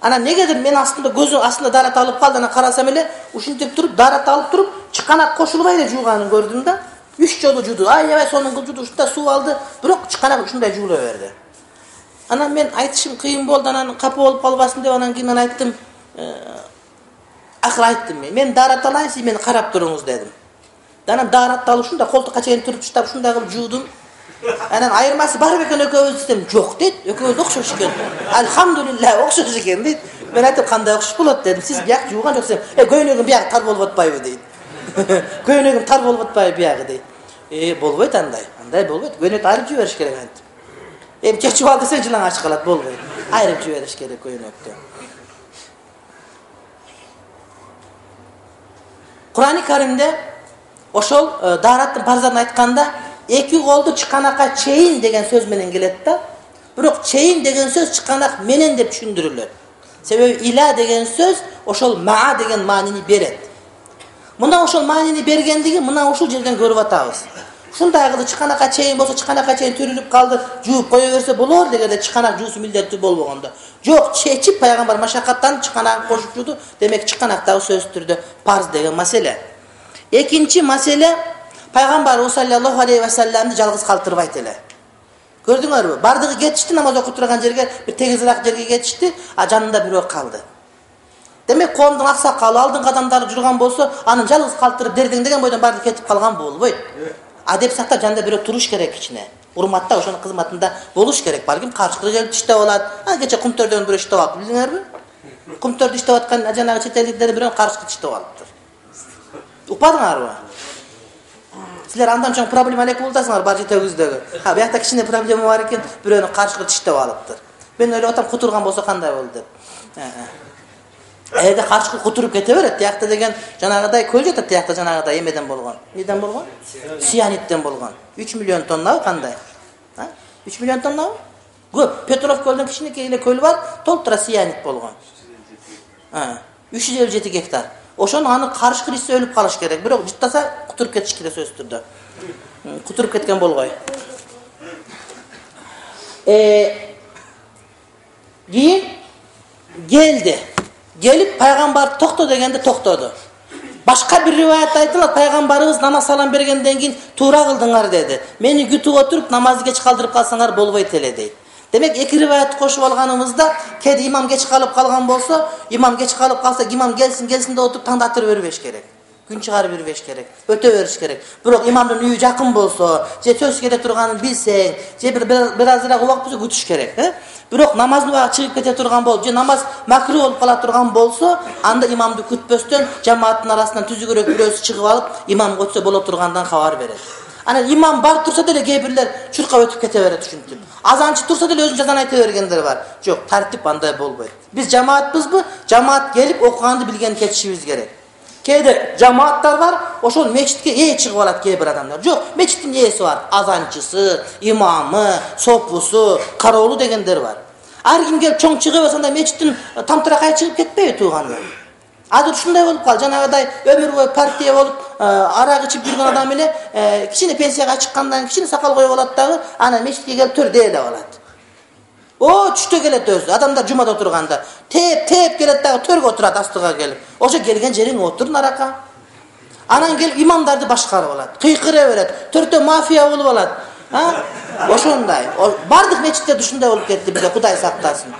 Ана негедир мен астында көзү астында дарат алып калды, ана карасам эле ушинтип туруп, дарат алып туруп, чыканак кошулбай эле жууганын көрдүм да. Үч жолу жууду. Аябай сонун кылып жууду, ушунда суу алды, бирок чыканак ушундай жуула берди. Анан мен айтышым кыйын болду, анан капа болуп калбасын деп анан кийин мен айттым, акыр айттым мен, мен дарат алайын, сиз мени карап туруңуз дедим. Анан даратты алып ушунда колтукка чейин туруп таштап ушундай кылып жуудум. Анан айырмасы бар бекен экөөбүз десем, жок дейт, экөөбүз окшош экен. Алхамдулилlah, окшош экен дейт. Мен айтып, кандай окшош болот дедим. Сиз бияк жууган жоксуз. Э, көйнөгүм бияк тар болуп атпайбы дейт. Көйнөгүм тар болуп атпайбы биягы дейт. Э, болбойт андай. Андай болбойт. Көйнөктү айырып жибериш керек антип. Эми чечип ал десе жылаң ачып калат, болбойт. Айрып жибериш керек көйнөктү. Кур'ан-ы Каримде ошол даараттын парзатын айтканда эки колду чыканакка чейин деген сөз менен келет да. Бирок чейин деген сөз чыканак менен деп түшүндүрүлөт. Себеби иля деген сөз ошол ма деген маанини берет. Мына ошол маанини бергендиги мына ушул жерден көрүп атабыз. Ушундай кылып чыканакка чейин болсо чыканакка чейин төрүлүп калды, жууп кое берсе болор дегенде чыканак жуусу милдеттүү болбогондо. Жок, чечип пайгамбар машакаттанып чыканак кошуп жууду, демек чыканактагы сөз түрдө парз деген маселе. Экинчи маселе пайгамбар саллаллаху алейхи ва салламды жалгыз калтырбайт эле. Көрдүңөрбү? Бардыгы кетишти, намаз окуп турган жерге, бир тегизирак жерге кетишти, а жанында бирөө калды. Демек коомдун аксакалы алдыңкы адамдары жүргөн болсо, анын жалгыз калтырып дердеңдеген бойдон барды кетип калган болбойт. Адеп сактап жанында бирөө туруш керек кичине. Урматта ошонун кызматында болуш керек. Балким каршылык келип иштеп алат. А кече кумтөрдөн бирөө иштеп алып, билдиңерби? Кумтөрдө иштеп аткан жанагы чет элдиктер бирөө каршылык иштеп алыптыр. Укпадыңарбы? Силер андан чоң проблема элек болтасыңар бар жетегиздеги. Ha, биякта кичине проблема бар экен, бирөөнү каршылык иштеп алыптыр. Мен ойлоп атам, кутурган болсо кандай болду деп. Эде каршылык кутуруп кете берет. Тиякта деген жанагыдай көл жатат, тиякта жанагыдай эмеден болгон. Неден болгон? Сианиттен болгон. үч миллион тоннабы кандай? Ha? үч миллион тоннабы? Көп. Петров көлдөн кичинекей эле көл бар, толтура сианит болгон. Ha, үч жүз элүү жети гектар. Ошону аны каршылык ишсе өлүп калыш керек. Бирок жыттаса кутуруп кетиш керек сөз түрдө. Кутуруп кеткен болгой. Э кийин келди. Gelip пайгамбар токто дегенде токтоду. Башка бир риваятта айтылат, пайгамбарыбыз намаз салам бергенден кийин туура кылдыңар деди. Мени күтүп отуруп намазды кеч калтырып калсаңар болбойт эле дейт. Демек эки риваятты кошуп алганыбызда, кеде имам кеч калып калган болсо, имам кеч калып калса, имам келсин, келсин деп отуруп таңдатыр бербеш керек. Күн чыгарып бербеш керек, өтө бериш керек. Бирок имамдын үйү жакын болсо, же сөз келе турганын билсең, же бир бир азыраак убак болсо күтүш керек, э? Бирок намаздын убагы чыгып кете турган болсо, же намаз макру болуп кала турган болсо, анда имамды күтпөстөн жамааттын арасынан түзүгүрөөк бирөөсү чыгып алып, имамга өтсө боло тургандан кабар берет. Анан имам бар турса деле кээ бирлер чуркап өтүп кете берет ушинтип. Азанчы турса деле өзүнүн жазан айта бергендер бар. Жок, тартип андай болбойт. Биз жамаатпызбы? Жамаат келип окуганды билген кетишибиз керек. Кээде жамааттар бар, ошол мечитке ээ чыгып алат кээ бир адамдар. Жок, мечиттин ээси бар, азанчысы, имамы, сопусу, кароолу дегендер бар. Ар ким келип чоң чыгып алса, мечиттин тамтыракай чыгып кетпейби тууганы? Азыр ушундай болуп калды, жанагыдай өмүр бою партия болуп, арак ичип жүргөн адам эле кичине пенсияга чыккандан кичине сакал коюп алат дагы, анан мечитке келип төр дээ деп алат. О, түштө келет өзү, адамдар жумада отурганда, теп теп келет дагы төргө отурат астыга келип. Ошо келген жериң отур нарака. Анан келип имамдарды башкарып алат, кыйкыра берет, төртөө мафия болуп алат. Ha? Ошондой. Бардык мечитте ушундай болуп кетти бизде, Кудай сактасын.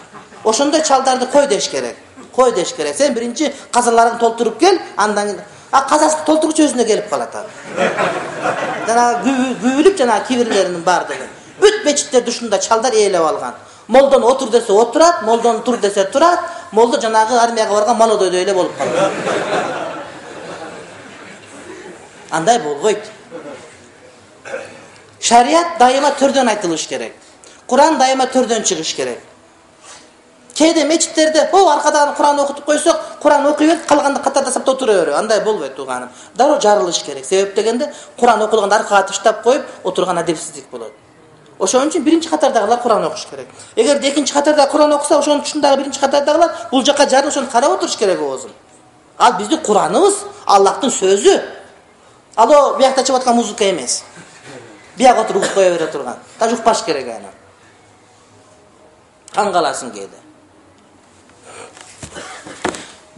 Ошондой чалдарды кой деш керек. Кой деш керек. Сен биринчи казаларыңды толтуруп кел, андан кийин а казасын толтургучу өзүнө келип калат ал. Жана күбүлүп жана кибирлеринин бардыгы. Бүт мечиттерди ушундай чалдар ээлеп алган. Молдон отур десе отурат, молдон тур десе турат, молдо жанагы армияга барган молодойдой эле болуп калат. Андай болбойт. Шариат дайыма төрдөн айтылыш керек. Куран дайыма төрдөн чыгыш керек. Кээде мечиттерде, о, аркадан Куран окутуп койсок, Куран окуй берип, калганды катарда саптап тура берип. Андай болбойт тууганым. Дароо жарылыш керек. Себеп дегенде, Куран окулганда аркага таштап коюп, отурган адепсиздик болот. Ошон үчүн биринчи катардагылар Куран окуш керек. Эгерде экинчи катарда Куран окуса, ошонун түшүндөгү биринчи катардагылар бул жакка жарылып ошону карап отуруш керек оозун. Ал биздин Кураныбыз, Аллахтын сөзү. Ал биякта чыгып аткан музыка эмес. Бияк отуруп кое бере турган. Даже укпаш керек аны. Таң каласың кээде.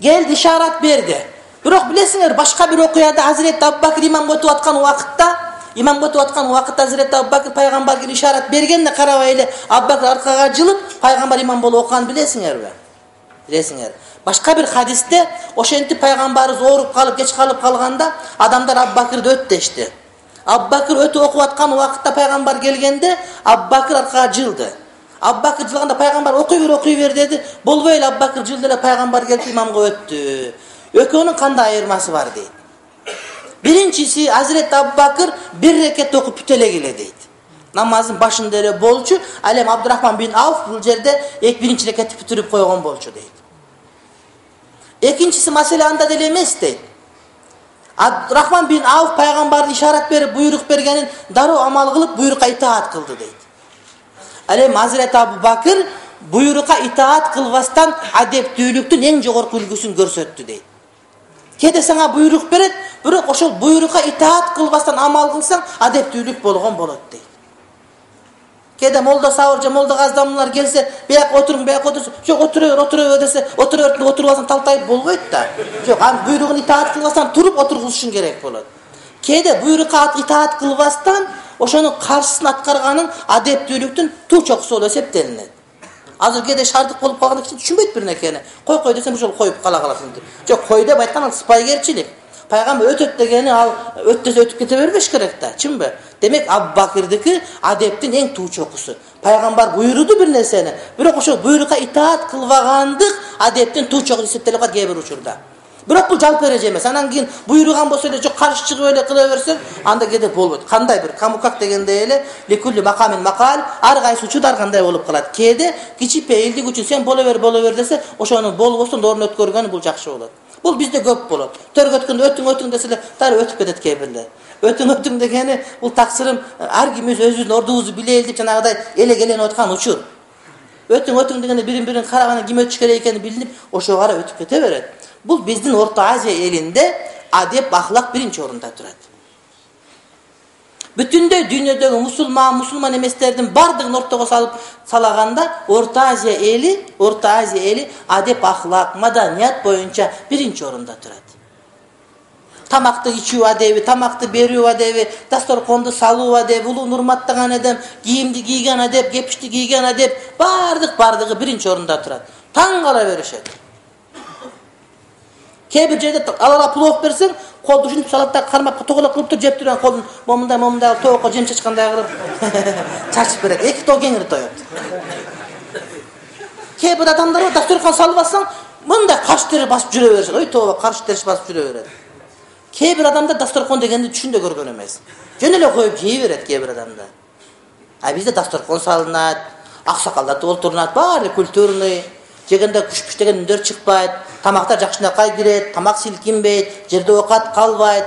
Келди, ишарат берди. Бирок билесиңер, башка бир окуяда Hazret Абубакир имамга өтүп аткан убакытта, имамга өтүп аткан убакытта Hazret Абубакир пайгамбарга ишарат бергенде карабай эле Абубакир аркага жылып, пайгамбар имам болуп окуган билесиңерби? Билесиңер. Башка бир хадисте ошентип пайгамбарыбыз ооруп калып, кеч калып калганда, адамдар Абубакирди өт дешти. Абубакир өтүп окуп аткан убакытта пайгамбар келгенде, Абубакир аркага жылды. Абубакир жылганда пайгамбар окуй бер, окуй бер деди. Болбой эле Абубакир жылды эле пайгамбар келип имамга өттү. Экөөнүн кандай айырмасы бар дейт. Биринчиси Hazret Абубакир бир рекет окуп бүтө эле келе дейт. Намаздын башында эле болчу, ал эми Абдурахман бин Ауф бул жерде эки биринчи рекатты бүтүрүп койгон болчу дейт. Экинчиси маселе анда деле эмес дейт. Абдурахман бин Ауф пайгамбардын ишарат берип буйрук бергенин дароо амал кылып буйрукка итаат кылды дейт. Ал эми Азирет Абу Бакыр буйрукка итаат кылбастан адептүүлүктүн эң жогорку үлгүсүн көрсөттү дейт. Кээде сага буйрук берет, бирок ошол буйрукка итаат кылбастан амал кылсаң адептүүлүк болгон болот дейт. Кээде молда сабыр же молда газдамлар келсе, бияк отуруң, бияк отур, жок отура бер, отура бер десе, отура бер, отуруп алсаң талтайып болбойт да. Жок, анын буйругун итаат кылбастан туруп отургузушуң керек болот. Кээде буйрукка итаат кылбастан ошонун каршысын аткарганын адептүүлүктүн туу чокусу болуп эсептелинет. Азыр кээде шаардык болуп калган киши түшүнбөйт бир нерсени. Кой кой десем ошол коюп кала каласың деп. Жок, кой деп айткан ал сыпайгерчилик. Пайгамбар өтөт дегени ал өттөсө өтүп кете бербеш керек да, чынбы? Демек Абу Бакырдыкы адептин эң туу чокусу. Пайгамбар буйруду бир нерсени, бирок ошол буйрукка итаат кылбагандык адептин туу чокусу эсептелип калат кээ бир учурда. Бирок бул жалпы эреже эмес. Анан кийин буйруган болсо эле жок каршы чыгып эле кыла берсең, анда кээде болбойт. Кандай бир камукак дегендей эле ликулли макамин макал, ар кайсы учурда ар кандай болуп калат. Кээде кичипейилдик үчүн сен боло бер, боло бер десе, ошону болбостон орун өткөргөнү бул жакшы болот. Бул бизде көп болот. Төргө өткөндө өтүң өтүң деселе, дары өтүп кетет кээ бирлер. Өтүң өтүң дегени бул таксырым ар ким өзүбүздүн ордубузду билели деп жанагыдай эле-келенип аткан учур. Өтүң өтүң дегенде бирин-бирин караганда ким өтүш керек экени билинип, ошого кара өтүп кете берет. Бул биздин Орто Азия элинде адеп, ахлак биринчи орунда турат. Бүтүндөй дүйнөдөгү мусулман, мусулман эместердин бардыгын ортого салып салаганда Орто Азия эли, Орто Азия эли адеп, ахлак, маданият боюнча биринчи орунда турат. Тамакты ичүү адеби, тамакты берүү адеби, дасторконду салуу адеби, улуу урматтаган адеп, кийимди кийген адеп, кепишти кийген адеп, бардык бардыгы биринчи орунда турат. Таң кала беришет. Кээ бир жерде алара плов берсең, колду ушинтип салат да кармакка тоголо кылып туруп жеп турган колун момундай момундай тоокко жем чачкандай кылып чачып берет. Эки тоо кеңири тоет. Кээ бир адамдар дасторкон салып алсаң, мындай каш тери басып жүрө беришет. Ой тооба, каш териш басып жүрө берет. Кээ бир адамдар дасторкон дегенди түшүндө көргөн эмес. Жөн эле коюп жей берет кээ бир адамдар. А бизде дасторкон салынат, аксакалдар олтурунат, баары культурный. Жегенде күш-пүш деген үндөр чыкпайт, тамактар жакшынакай кирет, тамак силкинбейт, жерде оокат калбайт.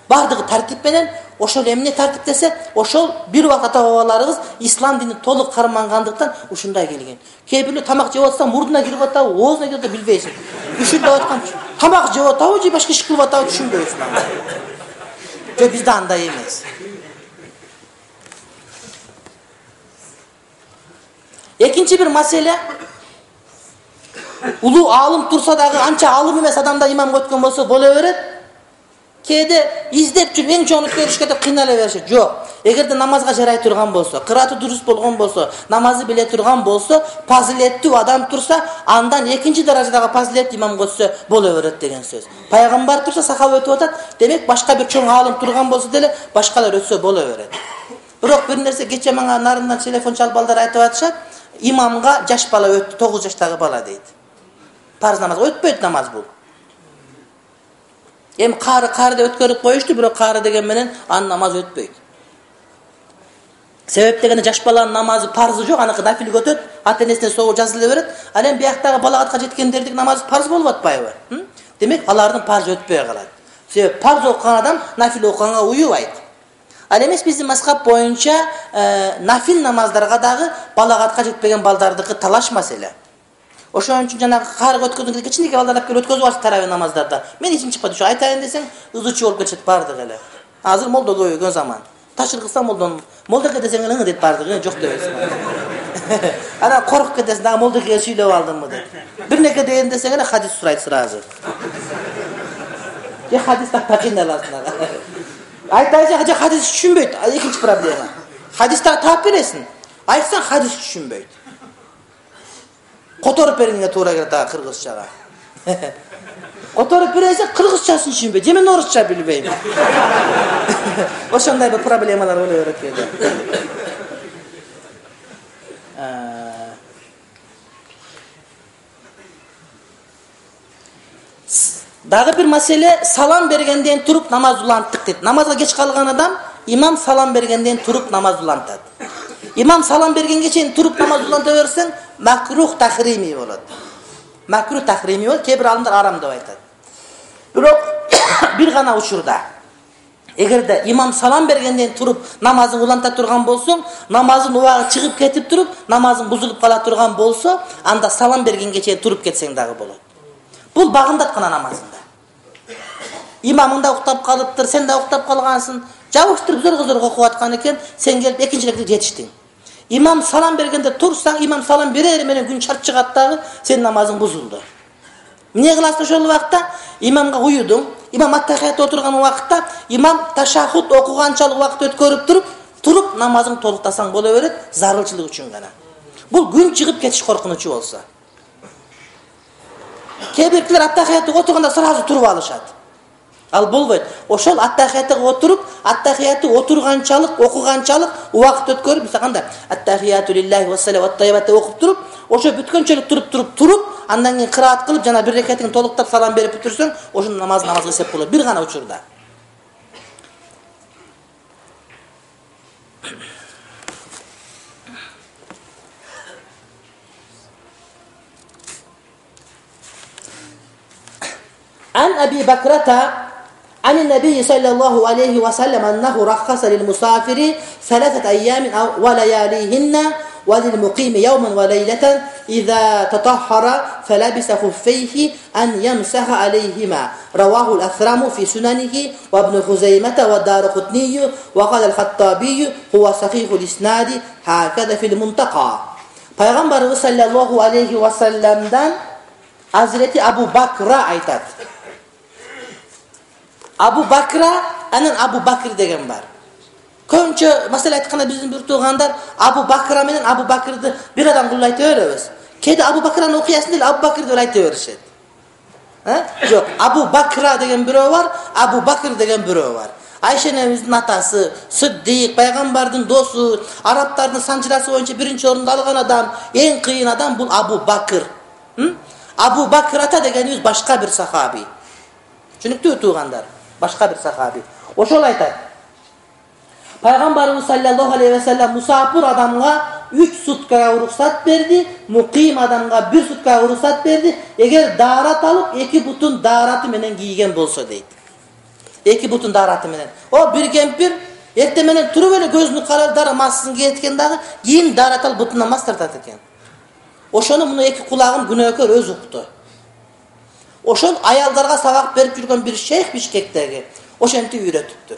Бардыгы тартип менен, ошол эмне тартип десе, ошол бир убакыт ата-бабаларыбыз ислам динин толук кармангандыктан ушундай келген. Кээ бирлер тамак жеп атса, мурдуна кирип атабы, оозуна кирип атабы билбейсиң. Ушундай айткан тамак жеп атабы, же башка иш кылып атабы түшүнбөйсүң анда. Жок, бизде андай эмес. Экинчи бир маселе, улуу алым турса дагы анча алым эмес адамда имамга өткөн болсо боло берет. Кээде издеп жүрүп эң чоңун өткөрүшкө деп кыйнала беришет. Жок. Эгерде намазга жарай турган болсо, кырааты дурус болгон болсо, намазы биле турган болсо, фазилеттүү адам турса, андан экинчи даражадагы фазилет имамга өтсө боло берет деген сөз. Пайгамбар турса, сахаба өтүп атат, демек башка бир чоң алым турган болсо деле башкалар өтсө боло берет. Бирок бир нерсе кече мага нарындан телефон чалып балдар айтып атышат, имамга жаш бала өттү, тогуз жаштагы бала дейт. Парз намаз өтпөйт намаз бул. Эми кары кары деп өткөрүп коюшту, бирок кары деген менен анын намазы өтпөйт. Себеп дегенде жаш баланын намазы парзы жок, аныкы нафилге өтөт, ата-энесине согуу жазыла берет. Ал эми бияктагы балагатка жеткендердин намазы парз болуп атпайбы? Демек алардын парзы өтпөй калат. Себеп парз окуган адам нафил окуганга уюбайт. Ал эмес биздин мазхаб боюнча нафил намаздарга дагы балагатка жетпеген балдардыкы талаш маселе. Ошон үчүн жанагы карга өткөзгөн кичинекей балдар алып келип өткөзүп алышат таравih намаздарда. Мен эсим чыкпайт, ушу айтайын десең, ызычуу болуп кетет бардыгы эле. Азыр молдо көбөйгөн заман. Ташыр кылса молдон, молдоке десең эле дейт бардыгы, жок дебейсиң. Анан коркуп кетесиң, дагы молдокеге сүйлөп алдымбы деп. Бир неке дейин десең эле хадис сурайт сразу. Же хадис таппай кыйналасың. Айтайын, же хадис түшүнбөйт, экинчи проблема. Хадисти таап бересиң. Айтсаң хадис түшүнбөйт. Которуп бериңе туура келет ага кыргызчага. Которуп бересиң кыргызчасын түшүнбөйт. Же мен орусча билбейм. Ошондой бир проблемалар боло берет кээде. Дагы бир маселе, салам бергенден туруп намаз уланттык дейт. Намазга кеч калган адам имам салам бергенден туруп намаз улантат. имам салам бергенге чейин туруп намаз уланта берсең, макрух тахрими болот. Макрух тахрими болот, кээ бир алымдар арам деп айтат. Бирок бир гана учурда эгерде имам салам бергенден туруп намазын уланта турган болсоң, намазын убагы чыгып кетип туруп, намазың бузулуп кала турган болсо, анда салам бергенге чейин туруп кетсең дагы болот. Бул багындаткана намазында. Имамың да уктап калыптыр, сен да уктап калгансың, жабыштырып зор-зор окуп аткан экен, сен келип экинчи рекетке жетиштиң. Имам салам бергенде турсаң, имам салам берер менен күн чарт чыгат дагы, сен намазың бузулду. Эмне кыласың ошол убакта? Имамга уюдуң. Имам аттахиятта отурган убакытта имам ташаххуд окуганчалык убакыт өткөрүп туруп, туруп намазың толуктасаң боло берет, зарылчылык үчүн гана. Бул күн чыгып кетиш коркунучу болсо. Кээ биркилер аттахиятта отурганда сразу туруп алышат. Ал болбойт. Ошол аттахиятта отуруп, аттахиятты отурганчалык, окуганчалык убакыт өткөрүп, мисалы кандай? Аттахияту лиллахи ва салават тайбатты окуп туруп, ошо бүткөнчөлүк туруп туруп туруп, андан кийин кыраат кылып, жана бир рекетин толуктап салам берип бүтүрсөң, ошонун намаз намазга эсеп болот. Бир гана учурда. An Abi Bakrata عن النبي صلى الله عليه وسلم أنه رخص للمسافر ثلاثة أيام ولياليهن وللمقيم يوما وليلة إذا تطهر فلبس خفيه أن يمسح عليهما. رواه الأثرم في سننه وابن خزيمة والدارقطني وقال الخطابي هو صحيح الإسناد هكذا في المنتقى. Peygamberimiz sallallahu aleyhi ve sellem'den Hazreti Abu Bakra aytat. Abu Bakra, anan Abu Bakr деген бар. Көбүнчө маселе айтканда биздин бир туугандар Abu Bakra менен Abu Bakrды бир адам кылып айта беребиз. Кээде Abu Bakrаны окуясын деле Abu Bakr деп айта беришет. Э? Жок, Abu Bakra деген бирөө бар, Abu Bakr деген бирөө бар. Айша энемиздин атасы, Сиддик, пайгамбардын досу, арабтардын санчырасы боюнча биринчи орунду алган адам, эң кыйын адам бул Abu Bakr. Abu Bakrata дегенибиз башка бир сахаби. Түшүнүктүүбү туугандар? Башка бир сахаби. Ошол айтат. Пайгамбарыбыз саллаллаху алейхи ва саллям мусафир адамга үч суткага уруксат берди, муким адамга бир суткага уруксат берди. Эгер даарат алып, эки бутун даараты менен кийген болсо дейт. Эки бутун даараты менен. О бир кемпир эрте менен туруп эле көзүнүн каралдары масын кийеткен дагы, кийин даарат алып бутунан мас тартат экен. Ошону муну эки кулагын күнөөкөр өз укту. Ошол аялдарга сабак берип жүргөн бир шейх Бишкектеги ошентип үйрөтүптүр.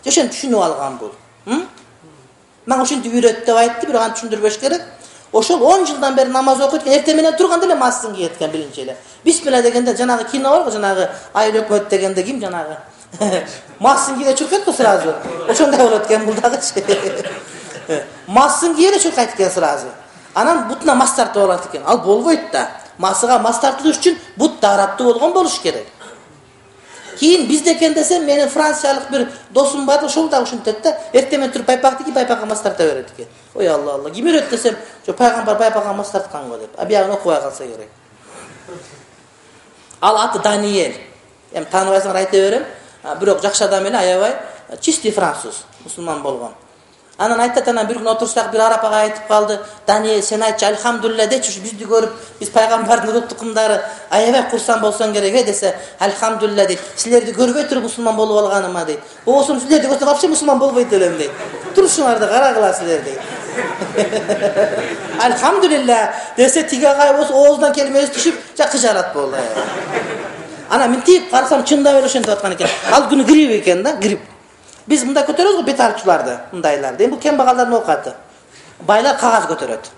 Ошентип түшүнүп алган бул. Мен ошентип үйрөт деп айтты, бирок аны түшүндүрбөш керек. Ошол он жылдан бери намаз окуйт экен, эрте менен турганда эле масын кийеткен биринчи эле. Бисмилла дегенде жанагы кино барго, жанагы айыл өкмөт дегенде ким жанагы? Масын кийде чуркайт го сразу. Ошондой болот экен бул дагы. Масын кийде чуркайт экен сразу. Анан бутуна мас тартып алат экен. Ал болбойт да. Масыга мас тартылыш үчүн бут даараттуу болгон болуш керек. Кийин бизде экен десем, менин франциялык бир досум бар, ошол да ушинтет да, эрте менен туруп пайпакты ки пайпакка мас тарта берет экен. Ой Алла Алла, ким үйрөт десем, жо пайгамбар пайпакка мас тарткан го деп. А биягын окубай калса керек. Ал аты Даниэль. Эми тааныбайсыңар айта берем. Бирок жакшы адам эле, аябай чистый француз, мусулман болгон. Анан айтат, анан бир күн отурсак бир араб ага айтып калды, Даниэль сен айтчы альхамдулилля дечи, бизди көрүп, биз пайгамбардын урут тукумдары аябай курсан болсоң керек э десе, альхамдулилля дейт. Силерди көрбөй туруп мусулман болуп алганыма дейт. Болсом силерди көрсөм вообще мусулман болбойт элем дейт. Турушуңарды карагыла силер дейт. Альхамдулилля десе тиги агай болсо оозунан келмеси түшүп, жакы жарат болду. Анан мынтип карасам чындап эле ошентип аткан экен. Ал күнү грип экен да, грип. Биз мындай көтөрөбүз го бет арчуларды, мындайларды. Эми бул кембагалдардын окаты. Байлар кагаз көтөрөт.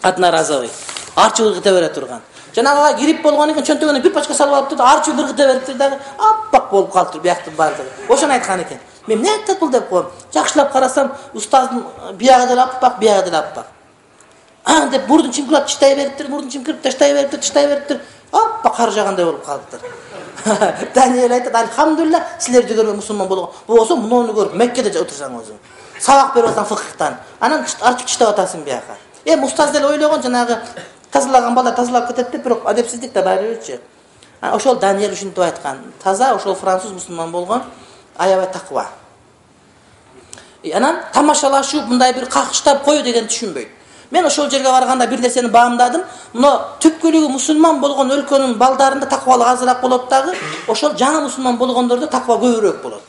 Одноразовый. Арчу ыргыта бере турган. Жанагыга грип болгон экен, чөнтөгүнө бир пачка салып алыптыр, арчу ыргыта бериптир дагы, аппак болуп калыптыр бияктын баардыгы. Ошону айткан экен. Мен эмне айтат бул деп коем. Жакшылап карасам, устаздын биягы деле аппак, биягы деле аппак. А деп бурдун чимкирап тыштай бериптир, бурдун чимкирип тыштай бериптир, тыштай бериптир. Аппак кар жагандай болуп калыптыр. Даниэль айтат, альхамдулилля, силерди көрбөй мусулман болгон. Болсо муну көрүп Меккеде отурсаң өзүң. Сабак берип атсаң фыкыктан. Анан арчып тыштап атасың бияка. Эми устаз деле ойлогон, жанагы тазалаган балдар тазалап кетет деп, бирок адепсиздик да баары бирчи. Ошол Даниэль ушинтип айткан. Таза ошол француз мусулман болгон, аябай таква. Анан тамашалашуу, мындай бир какыштап кою деген түшүнбөйт. Мен ошол жерге барганда бир нерсени баамдадым. Мына түпкүлүгү мусулман болгон өлкөнүн балдарында таквалык азыраак болот дагы, ошол жаңы мусулман болгондордо таква көбүрөөк болот.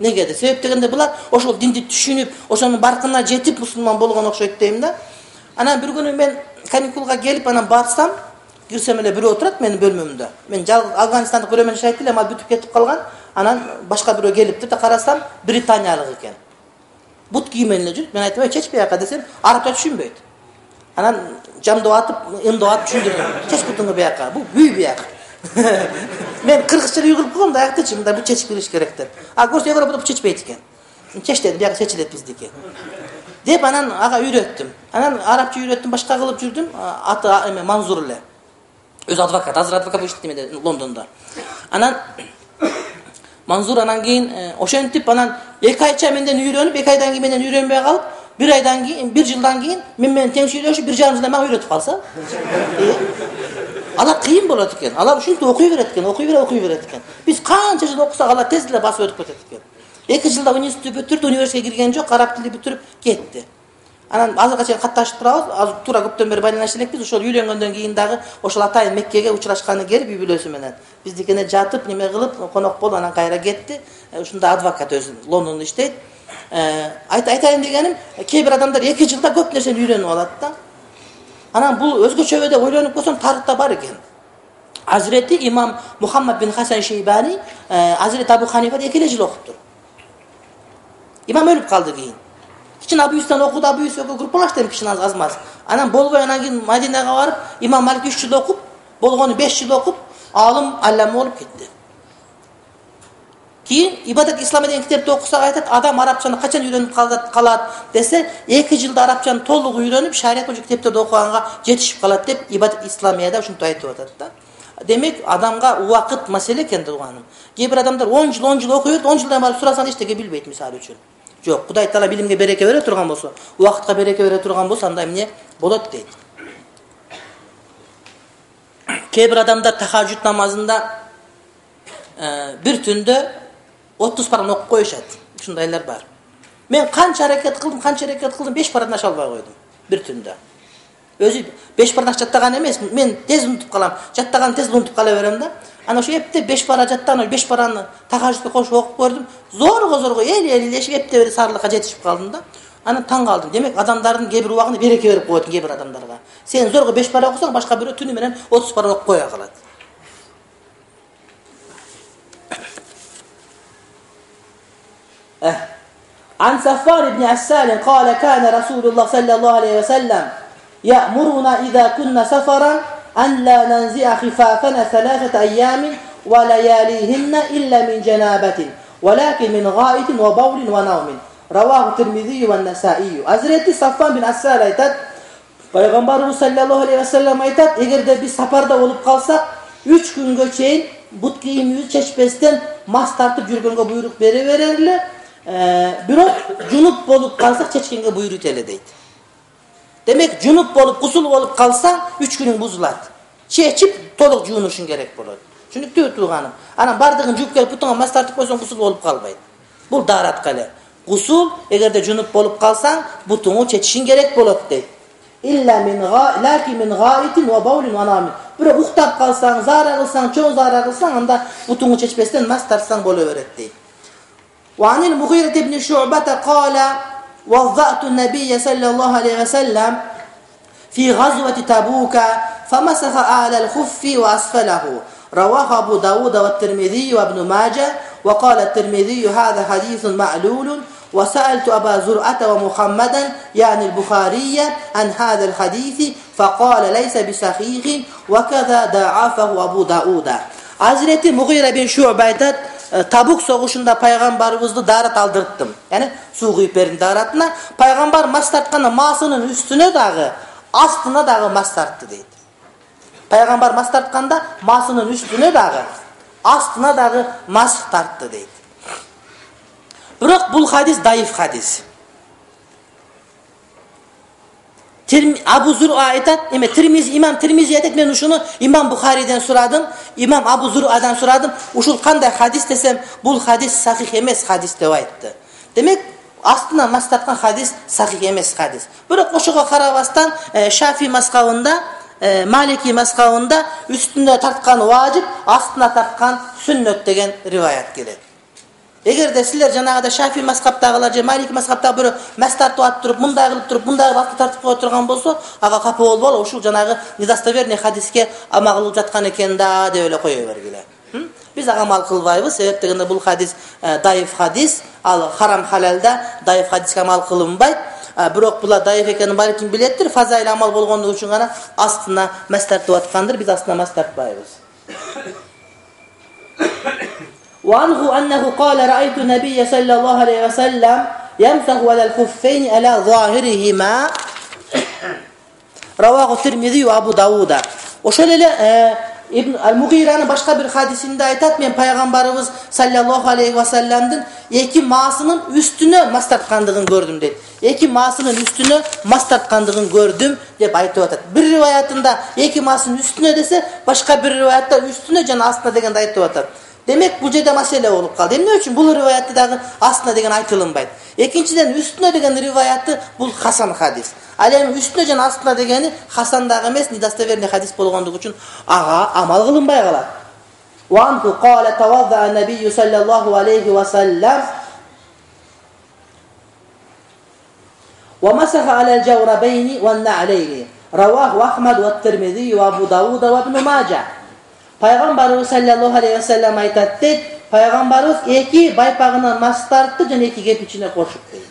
Неге де? Себеп дегенде булар ошол динди түшүнүп, ошонун баркына жетип мусулман болгон окшойт дейм да. Анан бир күнү мен каникулга келип, анан барсам, кирсем эле бирөө отурат менин бөлмөмдө. Мен жалгыз Афганистандык бирөө менен жашайт элем, ал бүтүп кетип калган. Анан башка бирөө келиптир да, карасам британиялык экен. Бут кийимен эле жүрүп, мен айттым, "Эй, чеч бияка" десем, арабча түшүнбөйт. Анан жамдап атып, ымдап атып түшүндүрдүм. "Чеч бутуңду бияка, бул бүй бияка." Мен кыргызча үй кылып койгом да, аяктычы, мындай бут чечип билиш керек деп. А көрсө Европада бут чечпейт экен. Чеч дедим, бияка чечилет биздики. Деп анан ага үйрөттүм. Анан арабча үйрөттүм, башка кылып жүрдүм. Аты эме Манзур эле. Өзү адвокат, азыр адвокат болуп иштейт Лондондо. Анан Манзур анан кийин ошентип анан эки айча менден үйрөнүп, эки айдан кийин менден үйрөнбөй калып, бир айдан кийин, бир жылдан кийин мен менен тең сүйлөшүп, бир жарым жылдан мага үйрөтүп калса. Алар кыйын болот экен. Алар ушинтип окуй берет экен, окуй берет, окуй берет экен. Биз канча жыл окусак, алар тез эле басып өтүп кетет экен. эки жылда университет бүтүрдү, университетке кирген жок, араб тили бүтүрүп кетти. Анан азыркыга чейин катташып турабыз. Азыр туура көптөн бери байланышып элекпиз. Ошол үйлөнгөндөн кийин дагы ошол атайын Меккеге учурашканы келип үй бүлөсү менен. Биздикине жатып, неме кылып, конок болуп анан кайра кетти. Ушунда адвокат өзү Лондондо иштейт. Айтайын дегеним, кээ бир адамдар эки жылда көп нерсени үйрөнүп алат да. Анан бул өзгөчөбү деп ойлонуп көрсөм, тарыхта бар экен. Азирети имам Мухаммад бин Хасан Шейбани, Азирет Абу Ханифа эки эле жыл окуптур. Имам өлүп калды кийин. Кичине Абу Юстан окуду, Абу Юсуфка группалаш деп кичине аз-маз. Анан болбой анан кийин Мадинага барып, имам Малик үч жыл окуп, болгону беш жыл окуп, алым аллама болуп кетти. Кийин Ибадат Ислам деген китепти окусак айтат, адам арабчаны качан үйрөнүп калат, калат десе, эки жылда арабчаны толук үйрөнүп, шарият боюнча китептерди окуганга жетишип калат деп Ибадат Исламияда ушинтип айтып атат да. Демек, адамга убакыт маселе экен турганым. Кээ бир адамдар он жыл, он жыл окуйт, он жылдан барып сурасаң эчтеке билбейт, мисалы үчүн. Жок, Кудай Таала билимге береке бере турган болсо, убакытка береке бере турган болсо, андай эмне болот дейт. Кээ бир адамдар тахажжуд намазында бир түндө отуз параны окуп коюшат. Ушундайлар бар. Мен канча аракет кылдым, канча аракет кылдым, беш параны аша албай койдум бир түндө. Өзү беш параны жаттаган эмес, мен тез унутуп калам. Жаттаган тез унутуп кала берем да. Ана ошо эптеп беш пара жаттаган, беш параны тахажжудка кошуп окуп көрдүм. Зорго-зорго эл-элилешип эптеп бери сарылыкка жетишип калдым да. Анан таң калдым. Демек, адамдардын кээ бир убагында береке берип коет кээ бир адамдарга. Сен зорго беш пара окусаң, башка бирөө түнү менен отуз пара окуп кое калат. عن صفوان بن عسال قال كان رسول الله صلى الله عليه وسلم يأمرنا إذا كنا سفرا أن لا ننزع خفافنا ثلاثة أيام ولياليهن إلا من جنابة ولكن من غائط وبول ونوم رواه الترمذي والنسائي. Hazreti Safvan bin Assal aytat, Пайгамбарыбыз sallallahu aleyhi ve sellem aytat, эгерде биз сапарда болуп калсак, үч күнгө чейин бут кийимибизди чечпестен мас тартып жүргөнгө буйрук бере берерле. Бирок жунуп болуп калсак чечкенге буйрут эле дейт. Демек, жунуп болуп, кусул болуп калсаң, үч күнүң бузулат. Чечип, толук жуунушуң керек болот. Түшүнүктүүбү тууганым? Анан бардыгын жууп келип, бутуңа мас тартып койсоң, кусул болуп калбайт. Бул daaratка эле. Кусул, эгерде жунуп болуп калсаң, бутуңу чечишиң керек болот дейт. Илля мин га, лаки мин гаитин ва баулин ва намин. Бирок уктап калсаң, заара кылсаң, чоң заара кылсаң, анда бутуңу чечпестен мас тартсаң боло берет дейт. وعن المغيرة بن شعبة قال وضعت النبي صلى الله عليه وسلم في غزوة تبوك فمسح أعلى الخف وأسفله رواه أبو داود والترمذي وابن ماجه وقال الترمذي هذا حديث معلول وسألت أبا زرعة ومحمدا يعني البخاري عن هذا الحديث فقال ليس بصحيح وكذا ضعفه أبو داود. Hazreti Mughira bin Şu'be aytat, Табук согушунда пайгамбарыбызды daarat алдырттым. Яни суу куюп бердим daaratына. Пайгамбар мас тартканда масынын үстүнө дагы, астына дагы мас тартты дейт. Пайгамбар мас тартканда масынын үстүнө дагы, астына дагы мас тартты дейт. Бирок бул хадис даиф хадис. Абу Зур'a aytat, эме Тирмизи, имам Тирмизи aytat, мен ушуну имам Бухариден сурадым, имам Абу Зур'адан сурадым. Ушул кандай хадис десем, бул хадис сахих эмес хадис деп айтты. Демек, астына мас тарткан хадис сахих эмес хадис. Бирок ошого карабастан Шафи мазхабында, Малики мазхабында үстүнө тарткан важип, астына тарткан сүннөт деген риваят келет. Эгерде силер жанагыда Шафи мазхабтагылар же Малики мазхабтагы бирөө мас тартып атып туруп, мындай кылып туруп, мындай кылып астына тартып кое турган болсо, ага капа болбол, ушул жанагы недостоверный хадиске ама кылып жаткан экен да деп эле кое бергиле. Biz amal kılbayız. Sebep degende bu hadis e, dayıf hadis. Al haram halalda dayıf hadisке amal kılınbay. E, Birok bula dayıf ekeni bari kim bilettir. Fazayla amal bolgonduğu için gana astına mas tartıp atkandır. Biz astına mas tartbayız. Ve anhu ennehu kâle ra'aytu nebiyye sallallahu aleyhi ve sellem yemsahu alel huffeyni ala zahirihima. Ravahu Tirmizi ve Abu Davud'a. O şöyle e, İbn al-Mughira'nın başka bir hadisinde aytat, men Peygamberimiz sallallahu aleyhi ve sellem'den iki masının üstüne mas tartkandığını gördüm dedi. İki masının üstüne mas tartkandığını gördüm dep aytıp atat. Bir rivayatında iki masının üstüne dese, başka bir rivayatta üstüne jana astına degen aytıp atat. Demek bu жерде mesele olup kaldı. Emne üçün bu rivayatı da astına degen aytılınbaydı. İkinciden üstüne degen rivayatı bu Hasan hadis. Alem üstüne jana astına degeni Hasan'dagı emes, nidastoverni hadis bolgondugu üçün aga amal kılınbay kalat. Wa anhu qala tawadda'a nabiyyu sallallahu aleyhi ve sellem ve masaha alel jawrabayni ve na'leyni. Ravahu Ahmed ve Tirmizi ve Abu Davud ve İbn Majah. Peygamberimiz sallallahu aleyhi ve sellem aytat deydi. Peygamberimiz iki baypağına mas tarttı jana iki gep içine koşup deydi.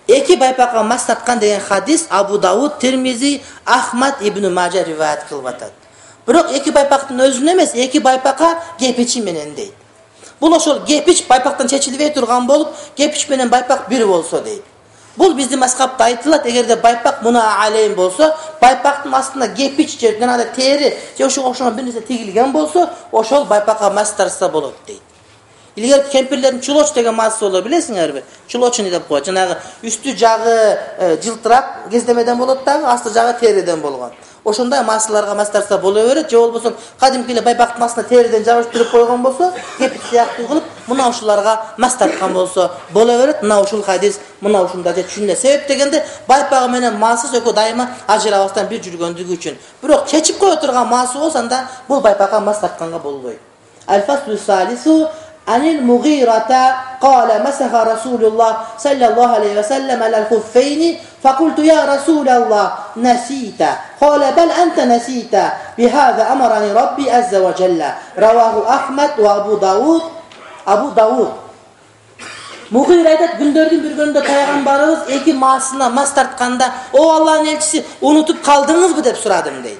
İki baypağa mas tartkan degen hadis Abu Davud, Tirmizi, Ahmed, İbn Majah rivayet kılıp atat. Bирок iki baypaktın özüne emes, iki baypağa gep içi menen deydi. Bul oşol gep iç baypaktan çeçilibey turgan bolup, gep iç menen baypak bir bolsa deydi. Bul bizde maskapta aytılat, egerde baypak buna aleyim bolsa, baypaktın aslında gep iç je janagı teri je ошо ошону bir nese tigilgen bolsa, oşol baypağa mas tartsa bolot deydi. İlgari kempirlerin çuloç degen mасы болот, билесиңерби? Çuloçunu деп коет. Жанагы üstü жагы жылтырап кездемеден болот дагы, асты жагы териден болгон. Ошондой масыларга мас тарса боло берет, же болбосо кадимки эле байпактын астына териден жабыштырып койгон болсо, кепит сыяктуу кылып, мына ушуларга мас тарткан болсо боло берет. Мына ушул хадис, мына ушунда же түшүнө. Себеп дегенде байпагы менен масыз экөө дайыма ажырабастан бир жүргөндүгү үчүн. Бирок чечип кое турган масы болсо анда бул байпакка мас тартканга болбойт. Al-faslu salisu عن المغيرة قال مسح رسول الله صلى الله عليه وسلم على الخفين فقلت يا رسول الله نسيت قال بل أنت نسيت بهذا أمرني ربي عز وجل رواه أحمد وأبو داود أبو داود Mughira aytat, gündördün bir günde Peygamberimiz iki masına mas tartkanda o Allah'ın elçisi unutup kaldınız mı dep suradım deydi.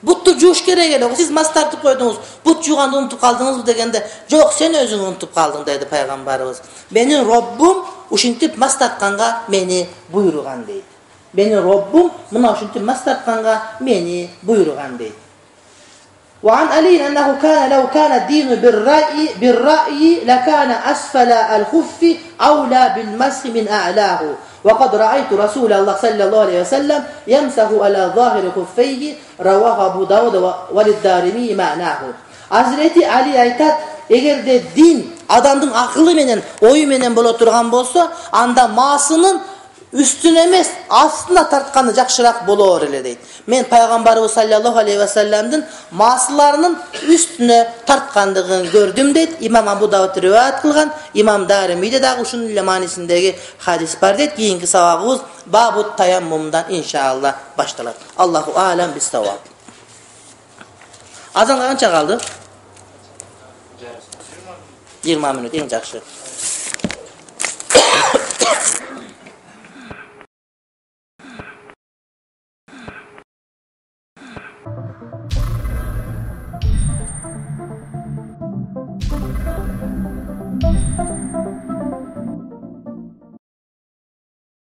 Buttu juuş kerek ele. Siz mas tartıp koydunuz. But juğandı unutup kaldınız mı degende, "Jok, sen özün unutup kaldın" dedi Peygamberimiz. Benim Rabbim uşintip mas tartkanga meni buyurgan deydi. Benim Rabbim mına uşintip mas tartkanga meni buyurgan deydi. Ve an Ali ennehu kana law kana dinu bir ra'yi bir ra'yi lakana asfala al-khuffi awla bil mashi min a'lahu. وقد رأيت رسول الله صلى الله عليه وسلم يمسح على ظاهر خفيه رواه أبو داود وللدارمي معناه. Hazreti Ali aytat, egerde din adamdın akıllı menen, oyu menen bolo turgan bolsa, anda masının üstüne emes, aslında tartkanı jakşırak bolor ele deydi. Men Peygamberimiz sallallahu aleyhi ve sellem'din masılarının üstüne tartkandığını gördüm deydi. İmam Abu Davud rivayet kılgan, İmam Darimi'de de uşun ile manisindeki hadis var deydi. Kiyinki savabımız Babut Tayammum'dan inşallah başlar. Allahu alem bis savab. Azan kança kaldı? yirmi minut, en jakşı.